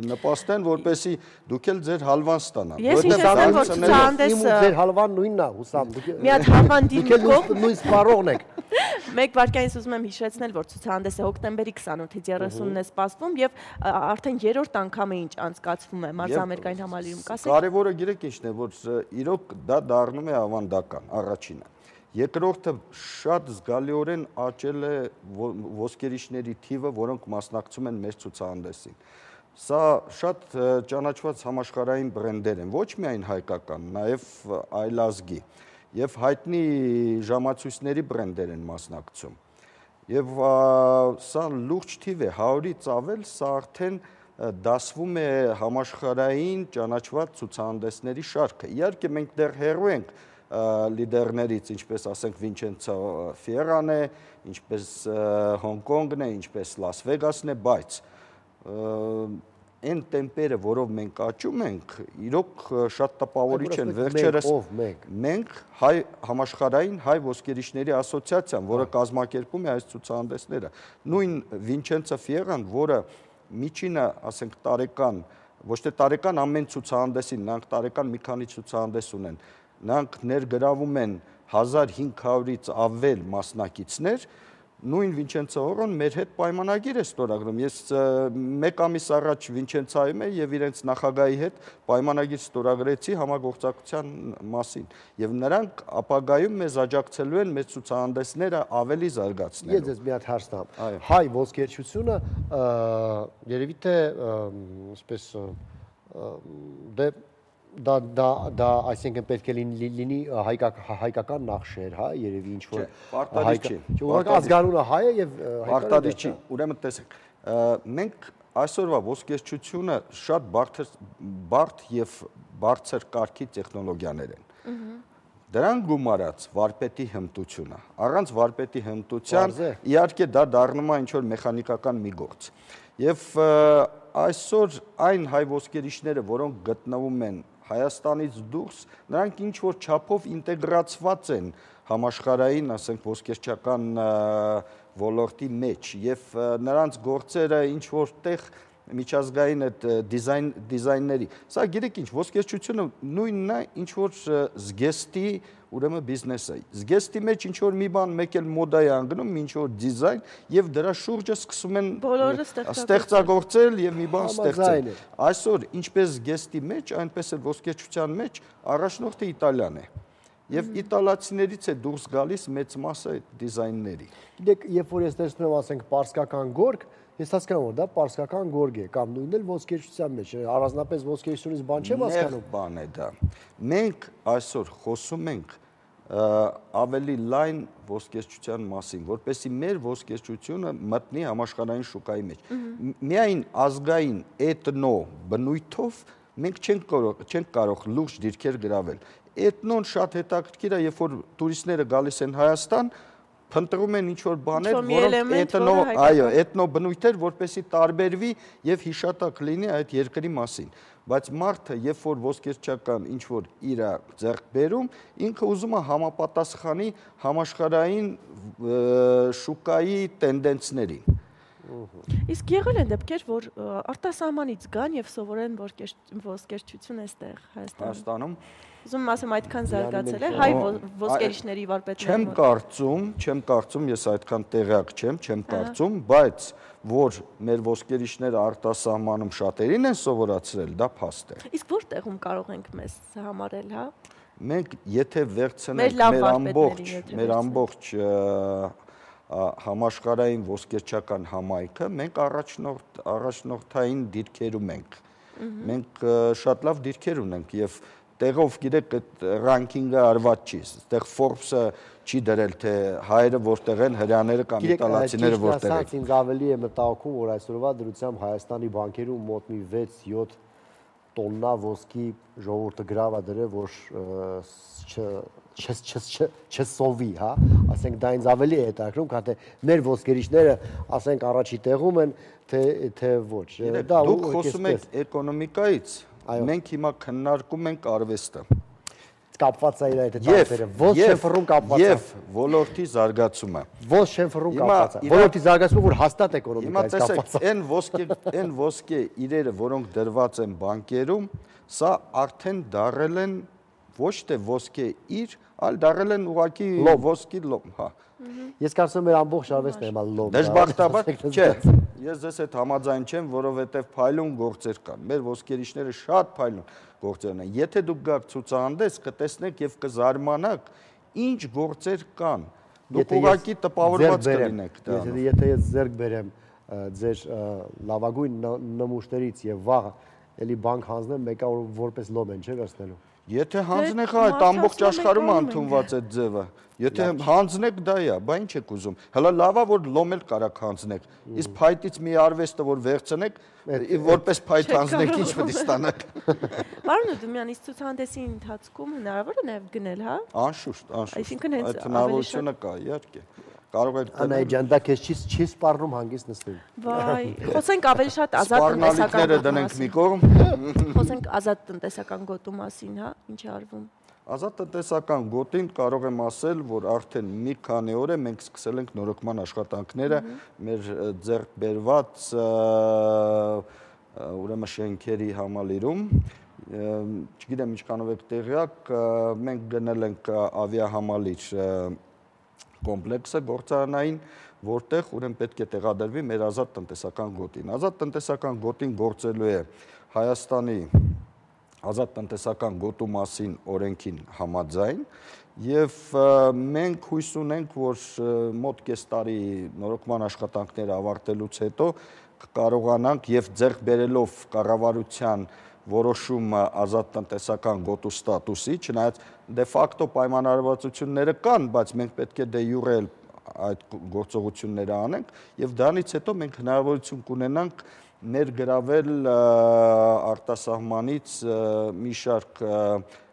S10: նպաստեն, որպեսզի դուք էլ ձեր հալվան ստանաք։
S1: Ես հիշեցնեմ, որ ցուցահանդեսը
S2: ձեր հալվան նույնն է, հուսամ։
S1: Մի հատ հալվան դիմկով
S2: նույն սպառողն եք։
S1: Մեկ վարքյանից ուզում եմ հիշեցնել, որ ցուցահանդեսը հոկտեմբերի 28-ից 30-ն է սպասվում եւ արդեն երրորդ անգամ է ինչ անցկացվում է մարզամերկային համալիրում, կասեք։
S10: Կարևորը գիտեք ինչն է, որ իրոք դա դառնում է ավանդական, առաջինը։ Երկրորդը շատ զգալիորեն աճել է ոսկերիչների թիվը, որոնք մասնակցում են մեր ցուցահանդեսին։ Սա շատ ճանաչված համաշխարհային բրենդեր են, ոչ միայն հայկական, նաեւ այլազգի եւ հայտնի ժամացույցների բրենդեր են մասնակցում։ Եվ սա լուրջ թիվ է, 100-ից ավել, սա արդեն դասվում է համաշխարհային ճանաչված ցուցահանդեսների շարքը։ Իհարկե մենք դեռ հեռու ենք լիդերներից, ինչպես ասենք Վինչենցո Ֆիերան է, ինչպես Հոնկոնգն է, ինչպես Լաս Վեգասն է, բայց այն տեմպերը, որով մենք աճում ենք, իրոք շատ տպավորիչ են։ Վերջերս մենք համաշխարհային հայ ոսկերիչների ասոցիացիան, որը կազմակերպում է այս ցուցահանդեսները, նույն Վինչենցո Ֆիերան, որը միջինը, ասենք, տարեկան, ոչ թե տարեկան ամեն ցուցահանդեսին, նրանք տարեկան մի քանի ցուցահանդես ունեն, նրանք ներգրավում են 1500-ից ավել մասնակիցներ, նույն Վինչենցո Օրոն մեր հետ պայմանագիր է ստորագրում։ Ես մեկ ամիս առաջ Վինչենցոյում եմ եւ իրենց նախագահի հետ պայմանագիր ստորագրեցի համագործակցության մասին։ Եվ նրանք ապագայում մեզ աջակցելու են մեր ցուցահանդեսները ավելի զարգացնելու։
S2: Ես ձեզ մի հատ հարց տամ։ Հայ ոսկերչությունը երևի թե այսպես դա այսինքն պետք է լինի հայկական նախշեր, հա, երևի ինչ որ
S10: պարտադիր չի։
S2: Ուղղակի ազգանունը հայ է եւ
S10: պարտադիր չի։ Ուրեմն տեսեք, մենք այսօրվա ոսկերչությունը շատ բարդ եւ բարձր կարգի տեխնոլոգիաներ են։ Դրան գումարած վարպետի հմտությունը, առանց վարպետի հմտության իհարկե դա դառնում է ինչ որ մեխանիկական մի գործ։ Եվ այսօր այն հայ ոսկերիչները, որոնք գտնվում են Հայաստանից դուրս, նրանք ինչ որ չափով ինտեգրացված են համաշխարհային, ասենք, ոսկերչական ոլորտի մեջ եւ նրանց գործերը ինչ որտեղ միջազգային այդ դիզայնների։ Սա գիտեք ինչ, ոսկերչությունը նույնն է, ինչ որ զգեստի, ուրեմն բիզնեսը։ Զգեստի մեջ ինչ որ մի բան մեկ էլ մոդա է անգնում, ինչ որ դիզայն եւ դրա շուրջը սկսում են ստեղծագործել եւ մի բան ստեղծել։ Այսօր ինչպես զգեստի մեջ, այնպես էլ ոսկերչության մեջ առաջնորդը Իտալիան է։ Եվ իտալացիներից է դուրս գալիս մեծ մասը այդ դիզայնների։
S2: Գիտեք, երբ որ ես տեսնում եմ, ասենք, պարսկական գորգ, Ես հասկանում որ դա պարսկական գորգ է կամ նույնն էլ ոսկերչության մեջ, առանձնապես ոսկերչությունից բան չեմ հասկանում։
S10: Բան է դա։ Մենք այսօր խոսում ենք ավելի լայն ոսկերչության մասին, որպեսզի մեր ոսկերչությունը մտնի համաշխարհային շուկայի մեջ։ Միայն ազգային էթնո բնույթով մենք չենք կարող լուրջ դիրքեր գրավել։ Էթնոն շատ հետաքրքիր է, երբ որ տուրիստները գալիս են Հայաստան, փնտրում են ինչ-որ բաներ, որոնք էթնո բնույթեր, որպեսզի տարբերվի եւ հիշատակ լինի այդ երկրի մասին։ Բայց մարդը, երբ որ ոսկերչական ինչ-որ իր ձեռք բերում, ինքը ուզում է համապատասխանի համաշխարհային շուկայի տենդենսներին։
S1: Իսկ եղել են դեպքեր, որ արտասահմանից գան եւ սովորեն ոսկերչություն այստեղ
S10: Հայաստանում։
S1: Ուզում եմ ասեմ, այդքան զարգացել է հայ ոսկերիչների վարպետները։
S10: Չեմ կարծում, ես այդքան տեղյակ չեմ կարծում, բայց որ մեր ոսկերիչները արտասահմանում շատերին են սովորացրել, դա փաստ է։
S1: Իսկ որտեղում կարող ենք մեզ համարել, հա։
S10: Մենք եթե վերցնենք մեր ամբողջ համաշխարհային ոսկերչական համայնքը, մենք առաջնորդային դիրքերում ենք։ Մենք շատ լավ դիրքեր ունենք եւ տեղով գիտեք այդ ռանկինգը արված չի։ Այդտեղ Forbes-ը չի դրել թե հայերը որտեղ են, հրեաները կամ իտալացիները որտեղ են։
S2: Ինձ ավելի է մտահոգում, որ այսօրվա դրությամբ Հայաստանի բանկերում մոտ մի 6-7 տոննա ոսկի ժողովուրդը գրավ է դրել, որ չսովի, հա, ասենք դա ինձ ավելի է հետաքրքրում, քան թե մեր ոսկերիչները, ասենք առաջի տեղում են, թե ոչ։
S10: Դուք խոսում եք էկոնոմիկայից, մենք հիմա քննարկում ենք արվեստը։
S2: Կապված է իր այդ տարբերը, ոնց շենֆռում կապված է։
S10: Եվ ոլորտի զարգացումը։
S2: Ոնց շենֆռում կապված է։ Ոլորտի զարգացումը, որ հաստատ էկոնոմիկայից կապված է։
S10: Այն ոսկե իրերը, որոնք դրված են բանկերում, սա արդեն դարել են ոչ թե ոսկե իր, այլ դարել են ուղղակի ոսկի լոմ, հա։
S2: Ես կարծում եմ մեր ամբողջ արվեստն է հիմա լոմ։
S10: Դժբախտաբար չէ։ Ես ձեզ հետ համաձայն չեմ, որովհետև փայլուն գործեր կան։ Մեր ոսկերիչները շատ փայլուն գործեր ունեն։ Եթե դուք գաք ցուցահանդես, կտեսնեք եւ կզարմանաք, ինչ գործեր կան։ Դուք ուղղակի տպավորված կլինեք դրանով։
S2: Եթե ես ձեռք բերեմ ձեր լավագույն նմուշներից եւ վաղ էլի բանկ հանձնեմ, մեկը որպես լոմ են, չէ՞ վերցնելու։
S10: Եթե հանձնեք այդ ամբողջ աշխարհում ընդունված այդ ձևը, եթե հանձնեք դա է, բա ինչ եք ուզում։ Հələ լավա որ լոմ էլ կարաք հանձնեք։ Իսկ փայտից մի արվեստը որ վերցնեք, որպես փայտ հանձնեք, ինչ պետք է ստանաք։
S1: Պարոն Ուդումյան, իսկ ցուցահանդեսի ընթացքում հնարավոր է նաև գնել, հա։
S10: Անշուշտ, անշուշտ։
S1: Այսինքն հենց
S10: այդ հնարավորությունը կա, իհարկե։ Կարող եք
S2: Անայ ջան, դա քեզ չի սպառնում հանգիստ նստել։
S1: Վայ, խոսենք ավելի շատ ազատ
S10: տնտեսական դնենք մի կողմ։
S1: Խոսենք ազատ տնտեսական գոտու մասին, հա, ինչ է արվում։
S10: Ազատ տնտեսական գոտին կարող եմ ասել, որ արդեն մի քանի օր է մենք սկսել ենք նորոգման աշխատանքները մեր ձեռք բերված ուրեմն շենքերի համալիրում։ Չգիտեմ ինչքանով եք տեղյակ, մենք գնել ենք ավիահամալիր կոմպլեքսը գործարանային, որտեղ ուրեմն պետք է տեղադրվի մեր ազատ տնտեսական գոտին։ Ազատ տնտեսական գոտին գործելու է Հայաստանի ազատ տնտեսական գոտու մասին օրենքին համաձայն եւ մենք հույս ունենք, որ մոտ կես տարի նորոգման աշխատանքները ավարտելուց հետո կարողանանք եւ ձեռք բերելով կառավարության որոշումը ազատ տնտեսական գոտու ստատուսի, չնայած դե ֆակտո պայմանավորվածությունները կան, բայց մենք պետք է դե յուրե այդ գործողությունները անենք եւ դրանից հետո մենք հնարավորություն կունենանք ներգրավել արտասահմանից մի շարք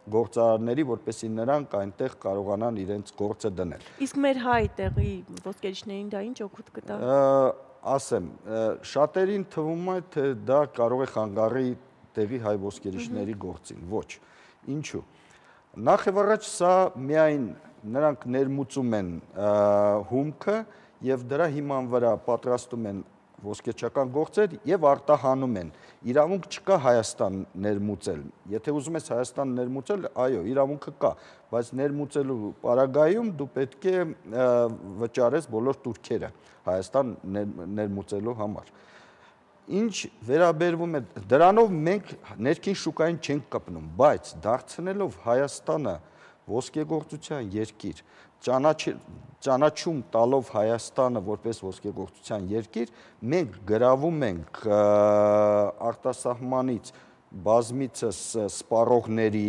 S10: գործարանների, որպեսզի նրանք այնտեղ կարողանան իրենց գործը դնել։
S1: Իսկ մեր հայ տեղի ոսկերիչներին դա ինչ օգուտ կտա։
S10: Ասեմ, շատերին թվում է, թե դա կարող է խանգարի տեղի հայ ոսկերիչների գործին, ոչ։ Ինչու։ Նախ եւ առաջ սա միայն նրանք ներմուծում են հումքը եւ դրա հիման վրա պատրաստում են ոսկերչական գործեր եւ արտահանում են։ Իրավունք չկա Հայաստան ներմուծել։ Եթե ուզում ես Հայաստան ներմուծել, այո, իրավունքը կա, բայց ներմուծելու պարագայում դու պետք է վճարես բոլոր տուրքերը Հայաստան ներմուծելու համար։ Ինչ վերաբերվում է դրանով մենք ներքին շուկային չենք կպնում, բայց դարձնելով Հայաստանը ոսկեգործության երկիր, ճանաչում տալով Հայաստանը որպես ոսկեգործության երկիր, մենք գրավում ենք արտասահմանից բազմիցս սպառողների,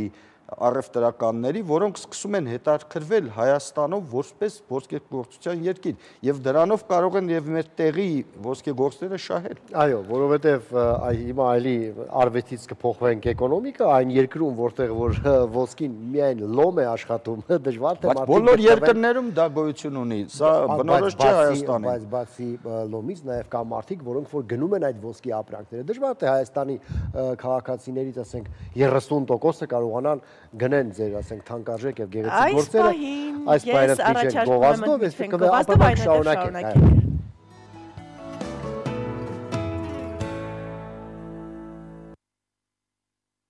S10: առևտրականների, որոնք սկսում են հետաքրքրվել Հայաստանով որպես ոսկեգործության երկիր եւ դրանով կարող են եւ մեր տեղի ոսկեգործները շահել։
S2: Այո, որովհետեւ հիմա այլի արվեստից կփոխվենք էկոնոմիկա, այն երկրում, որտեղ որ ոսկին միայն լոմ է աշխատում, դժվար թե
S10: մարդիկ բոլոր երկրներում դա գոյություն ունի։ Սա բնորոշ չէ Հայաստանի։
S2: Բայց բացի լոմից նաեւ կա մարդիկ, որոնք որ գնում են այդ ոսկի ապրանքները։ Դժվար թե Հայաստանի քաղաքացիներից, ասենք, 30%-ը կարողանան գնեն ձեր, ասենք, թանկարժեք եւ գեղեցիկ գործերը, այս պայանը փիչեն գովազդով, այսինքն ապա շարունակենք։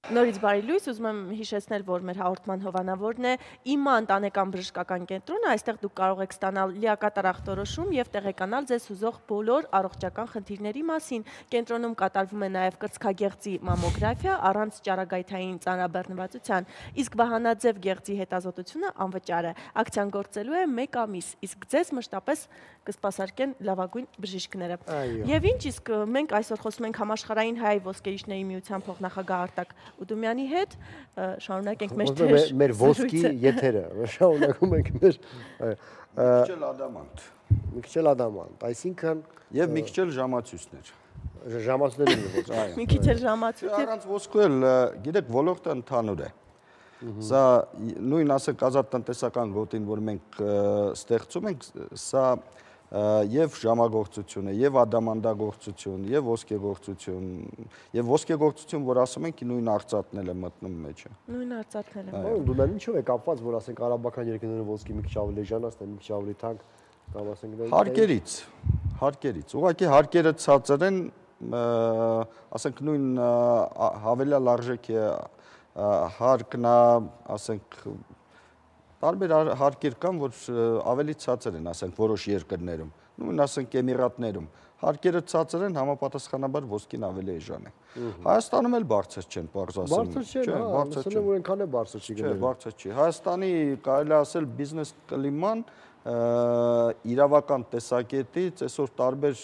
S1: Նորից բարի լույս, ուզում եմ հիշեցնել, որ մեր հաղորդման հովանավորն է ԻՄԱ ընտանեկան բժշկական կենտրոնը, այստեղ դուք կարող եք ստանալ լիակատար ախտորոշում եւ տեղեկանալ ձեզ հուզող բոլոր առողջական խնդիրների մասին։ Կենտրոնում կատարվում է նաեւ կրծքագեղձի մամոգրաֆիա առանց ճարագայթային ծանրաբեռնվածության, իսկ վահանաձև գեղձի հետազոտությունը անվճար է։ Ակցիան գործելու է 1 ամիս, իսկ ձեզ մշտապես կսպասարկեն լավագույն բժիշկները։ Եվ ինչ, իսկ մենք այսօր խոսում ենք Համաշխարհային հայ ոսկերիչների միության փոխնախագահ Արտակ Ուդումյանի հետ, շարունակենք
S2: մեր ոսկի եթերը, շարունակում ենք մեր
S10: Միքչել Ադամանտ։
S2: Միքչել Ադամանտ, այսինքն
S10: եւ Միքչել ժամացույցներ։
S2: Ժամացույցներն ոչ, այո։
S1: Մի քիչ էլ ժամացույց։
S10: Առանց ոսկու էլ, գիտեք, ոլորտը ընդհանուր է։ Սա նույն ասենք ազատ տնտեսական գոտին, որ մենք ստեղծում ենք, սա եւ ժամագործություն է, եւ ադամանդագործություն, եւ ոսկեգործություն, եւ ոսկեգործություն, որ ասում ենք, նույն արծաթն էլ է մտնում մեջը։
S1: Նույն արծաթն էլ է։
S2: Դու դա ինչով է կապված, որ ասենք արաբական երկրներում ոսկի մի քիչ ավելի էժանացն է, մի քիչ ավելի թանկ, կամ ասենք հարկերից։ Ուղղակի հարկերը ցածր են, ասենք նույն հավելյալ արժեքի հարկն, ասենք տարբեր հարկեր կան, որ ավելի ցածր են, ասենք որոշ երկրներում, նույն ասենք Էմիրատներում, հարկերը ցածր են, համապատասխանաբար ոսկին ավելի էժան է։ Հայաստանում էլ բարձր չեն, պարզ ասեմ։ Բարձր չեն, որ այնքան է բարձր չի գնել։
S10: Չէ, բարձր չի։ Հայաստանի կարելի ասել բիզնես կլիման իրավական տեսակետից այսօր տարբեր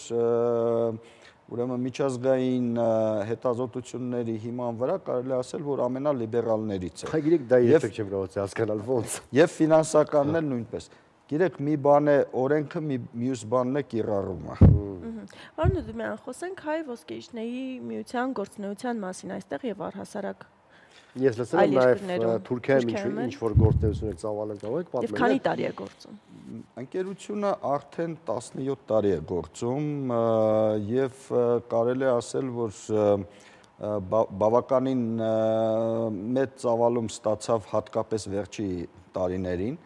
S10: ուրեմն միջազգային հետազոտությունների հիման վրա կարելի ասել, որ ամենալիբերալներից է։
S2: Գիտեք, դա երբեք չեմ կարողացել հասկանալ ոնց։
S10: Եվ ֆինանսականն էլ նույնպես։ Գիտեք, մի բան է օրենքը, մյուս բանն է կիրառումը։
S1: Պարոն Ուդումյան, խոսենք հայ ոսկերիչների միության գործունեության մասին այստեղ եւ առհասարակ
S2: Ես լսել եմ նաև Թուրքիայում ինչ որ գործունեություն եք ծավալել, կարող եք պատմել։
S1: Եվ քանի տարի է գործում։
S10: Ընկերությունը արդեն 17 տարի է գործում եւ կարելի է ասել, որ բավականին մեծ ծավալում ստացավ հատկապես վերջի տարիներին։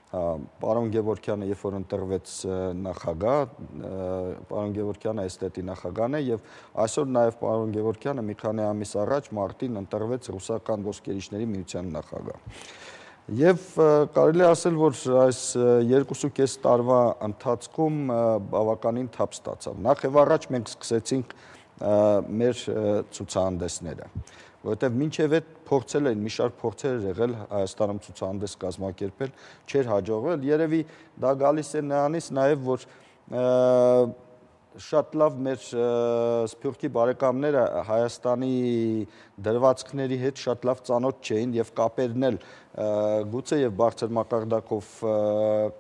S10: Պարոն Գևորգյանը, երբ որ ընտրվեց նախագահ, պարոն Գևորգյանը էստետի նախագահն է եւ այսօր նաեւ պարոն Գևորգյանը մի քանի ամիս առաջ մարտին ընտրվեց ռուսական ոսկերիչների միության նախագահ։ Եվ կարելի ասել, որ այս 2.5 տարվա ընթացքում բավականին թափ ստացավ։ Նախ եւ առաջ մենք սկսեցինք մեր ցուցահանդեսները, որովհետև մինչև այդ փորձել էին, մի շարք փորձեր եղել Հայաստանում ցուցահանդես կազմակերպել, չէր հաջողվել։ Երևի դա գալիս է նրանից նաև, որ շատ լավ մեր սփյուռքի բարեկամները Հայաստանի դրվածքների հետ շատ լավ ծանոթ չէին եւ կապերն էլ գուցե եւ բարձր մակարդակով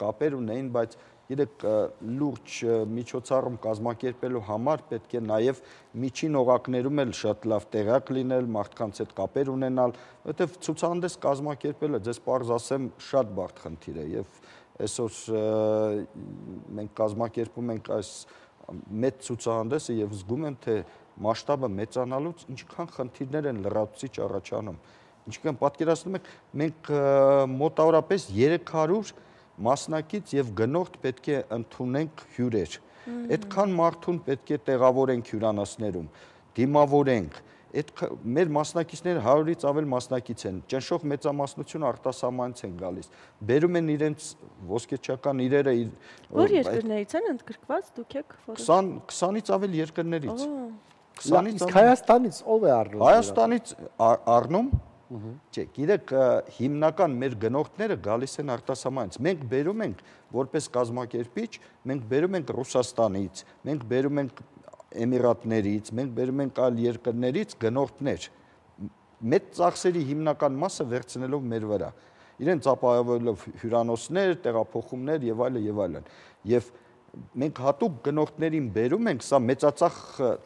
S10: կապեր ունեին, բայց գիտեք, լուրջ միջոցառում կազմակերպելու համար պետք է նաև միջին օղակներում էլ շատ լավ տեղյակ լինել, մարդկանց հետ կապեր ունենալ, որովհետև ցուցահանդես կազմակերպելը, ձեզ պարզ ասեմ, շատ բարդ խնդիր է եւ այսօր մենք կազմակերպում ենք այս մեծ ցուցահանդեսը եւ զգում եմ, թե մասշտաբը մեծանալուց ինչքան խնդիրներ են լրացուցիչ առաջանում։ Ինչքան պատկերացնում եք, մենք մոտավորապես 300 մասնակից եւ գնորդ պետք է ընդունենք հյուրեր։ Այդքան մարդուն պետք է տեղավորենք հյուրանոցներում, դիմավորենք։ Այդ մեր մասնակիցները 100-ից ավել մասնակից են։ Ճնշող մեծամասնությունը արտասահմանից են գալիս։ Բերում են իրենց ոսկեչական իրերը։
S1: Որ երկրներից են ընդգրկված, դուք եք
S10: 20-ից ավել երկրներից։
S2: 20-ից Հայաստանից ով է առնում։
S10: Հայաստանից առնում Չէ, գիտեք, հիմնական մեր գնորդները գալիս են արտասահմանից։ Մենք բերում ենք որպես կազմակերպիչ, մենք բերում ենք Ռուսաստանից, մենք բերում ենք Էմիրատներից, մենք բերում ենք այլ երկրներից գնորդներ։ Մեծ ծախսերի հիմնական մասը վերցնելով մեր վրա։ Իրենց ապահովելով հյուրանոցներ, տեղափոխումներ եւ այլն եւ այլն։ Եվ մենք հատուկ գնորդներին բերում ենք, սա մեծածախ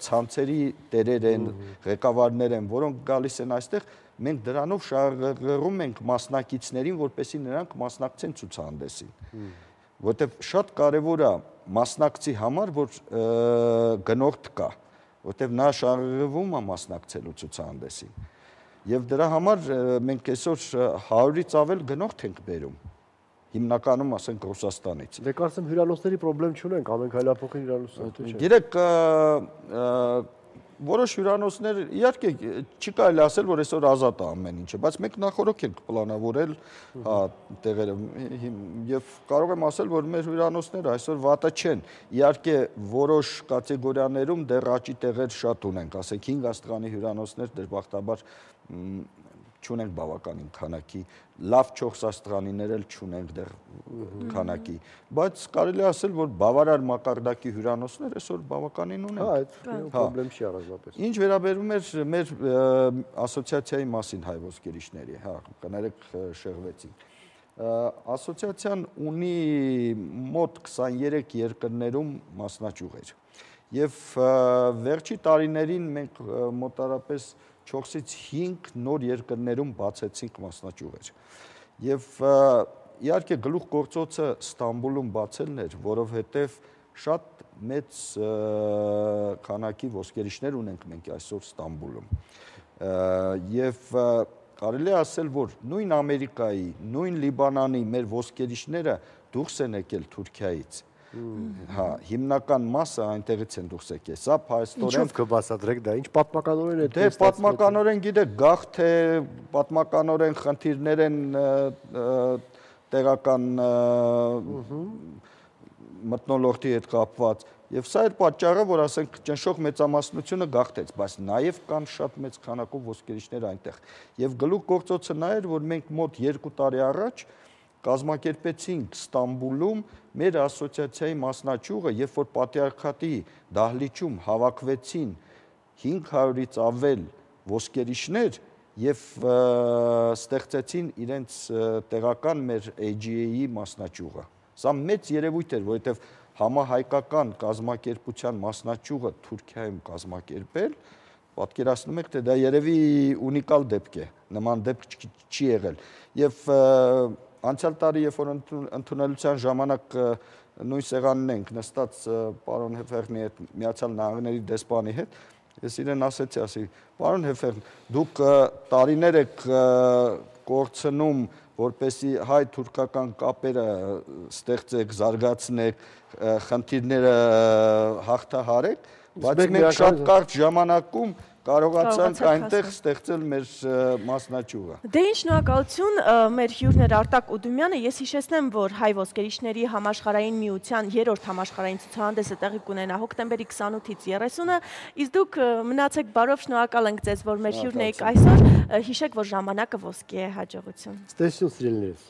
S10: ցանցերի տերեր են, ղեկավարներ են, որոնք գալիս են այստեղ, մենք դրանով շահագրգռում ենք մասնակիցներին, որպեսզի նրանք մասնակցեն ցուցահանդեսին։ Որտեւ շատ կարեւոր է մասնակցի համար, որ գնորդ կա, որտեւ նա շահագրգռվում է մասնակցելու ցուցահանդեսին։ Եվ դրա համար մենք այսօր 100-ից ավել գնորդ ենք բերում։ Հիմնականում ասենք Ռուսաստանից։
S2: Դե կարծեմ հյուրանոցների խնդրեմ չունենք, ամեն հայլափոխին հյուրանոցներ։
S10: Գիտեք, որոշ հյուրանոցներ իհարկե չի կարելի ասել, որ այսօր ազատ է ամեն ինչը, բայց մենք նախորոք ենք պլանավորել տեղերը եւ կարող եմ ասել, որ մեր հյուրանոցները այսօր վատը չեն։ Իհարկե որոշ կատեգորիաներում դեռ աճի տեղեր շատ ունենք, ասենք 5 աստղանի հյուրանոցներ դժբախտաբար չունենք բավականին քանակի, լավ 4 աստղանիներ էլ չունենք դեռ քանակի, բայց կարելի ասել, որ բավարար մակարդակի հյուրանոցներ այսօր բավականին ունենք։
S2: Հա, այդ խնդրեմ չի առանձնապես։
S10: Ինչ վերաբերում է մեր ասոցիացիայի մասին հայ ոսկերիչների, հա, կներեք շեղվեցինք։ Ասոցիացիան ունի մոտ 23 երկրներում մասնաճյուղեր։ Եվ վերջի տարիներին մենք մոտարապես 4-ից 5 նոր երկրներում բացեցինք մասնաճյուղեր։ Եվ իհարկե գլուխ գործոցը Ստամբուլում բացելն էր, որովհետև շատ մեծ քանակի ոսկերիչներ ունենք մենք այսօր Ստամբուլում։ Եվ կարելի է ասել, որ նույն Ամերիկայի, նույն Լիբանանի մեր ոսկերիչները դուրս են եկել Թուրքիայից։ Հա, հիմնական մասը այնտեղից են դուրս եկել։ Սա փաստորեն
S2: Ինչով կբացատրեք դա, ինչ պատմականորեն է։
S10: Դե պատմականորեն գիտեք, գաղթ է, պատմականորեն խնդիրներ են տեղական մթնոլորտի հետ կապված։ Եվ սա էր պատճառը, որ ասենք ճնշող մեծամասնությունը գաղթեց, բայց նաև կան շատ մեծ քանակով ոսկերիչներ այնտեղ։ Եվ գլուխ գործոցը նա էր, որ մենք մոտ 2 տարի առաջ կազմակերպեցինք Ստամբուլում մեր ասոցիացիայի մասնաճյուղը, երբ որ պատիարքատի դահլիճում հավաքվեցին 500-ից ավել ոսկերիչներ եւ ստեղծեցին իրենց տեղական մեր AGA-ի մասնաճյուղը։ Սա մեծ երևույթ էր, որովհետեւ համահայկական կազմակերպության մասնաճյուղը Թուրքիայում կազմակերպել, պատկերացնում եք, թե դա երևի ունիկալ դեպք է, նման դեպք չի եղել։ Եվ անցյալ տարի, երբ որ ընդունելության ժամանակ նույն սեղանին ենք նստած պարոն Հեֆերնի հետ, Միացյալ Նահանգների դեսպանի հետ, ես իրեն ասեցի, պարոն Հեֆերն, դուք տարիներ եք կորցնում, որպեսզի հայ-թուրքական կապերը ստեղծեք, զարգացնեք, խնդիրները հաղթահարեք, բայց մենք շատ կարճ ժամանակում կարողացանք այնտեղ ստեղծել մեր մասնաճյուղը։
S1: Դե ինչ շնորհակալություն, մեր հյուրն էր Արտակ Ուդումյանը, ես հիշեցնեմ, որ հայ ոսկերիչների համաշխարհային միության 3-րդ համաշխարհային ցուցահանդեսը տեղի կունենա հոկտեմբերի 28-ից 30-ը, իսկ դուք մնացեք բարով, շնորհակալ ենք ձեզ, որ մեր հյուրն եք այսօր, հիշեք, որ ժամանակը ոսկի է, հաջողություն։
S2: Ստեսություն սիրելիներս։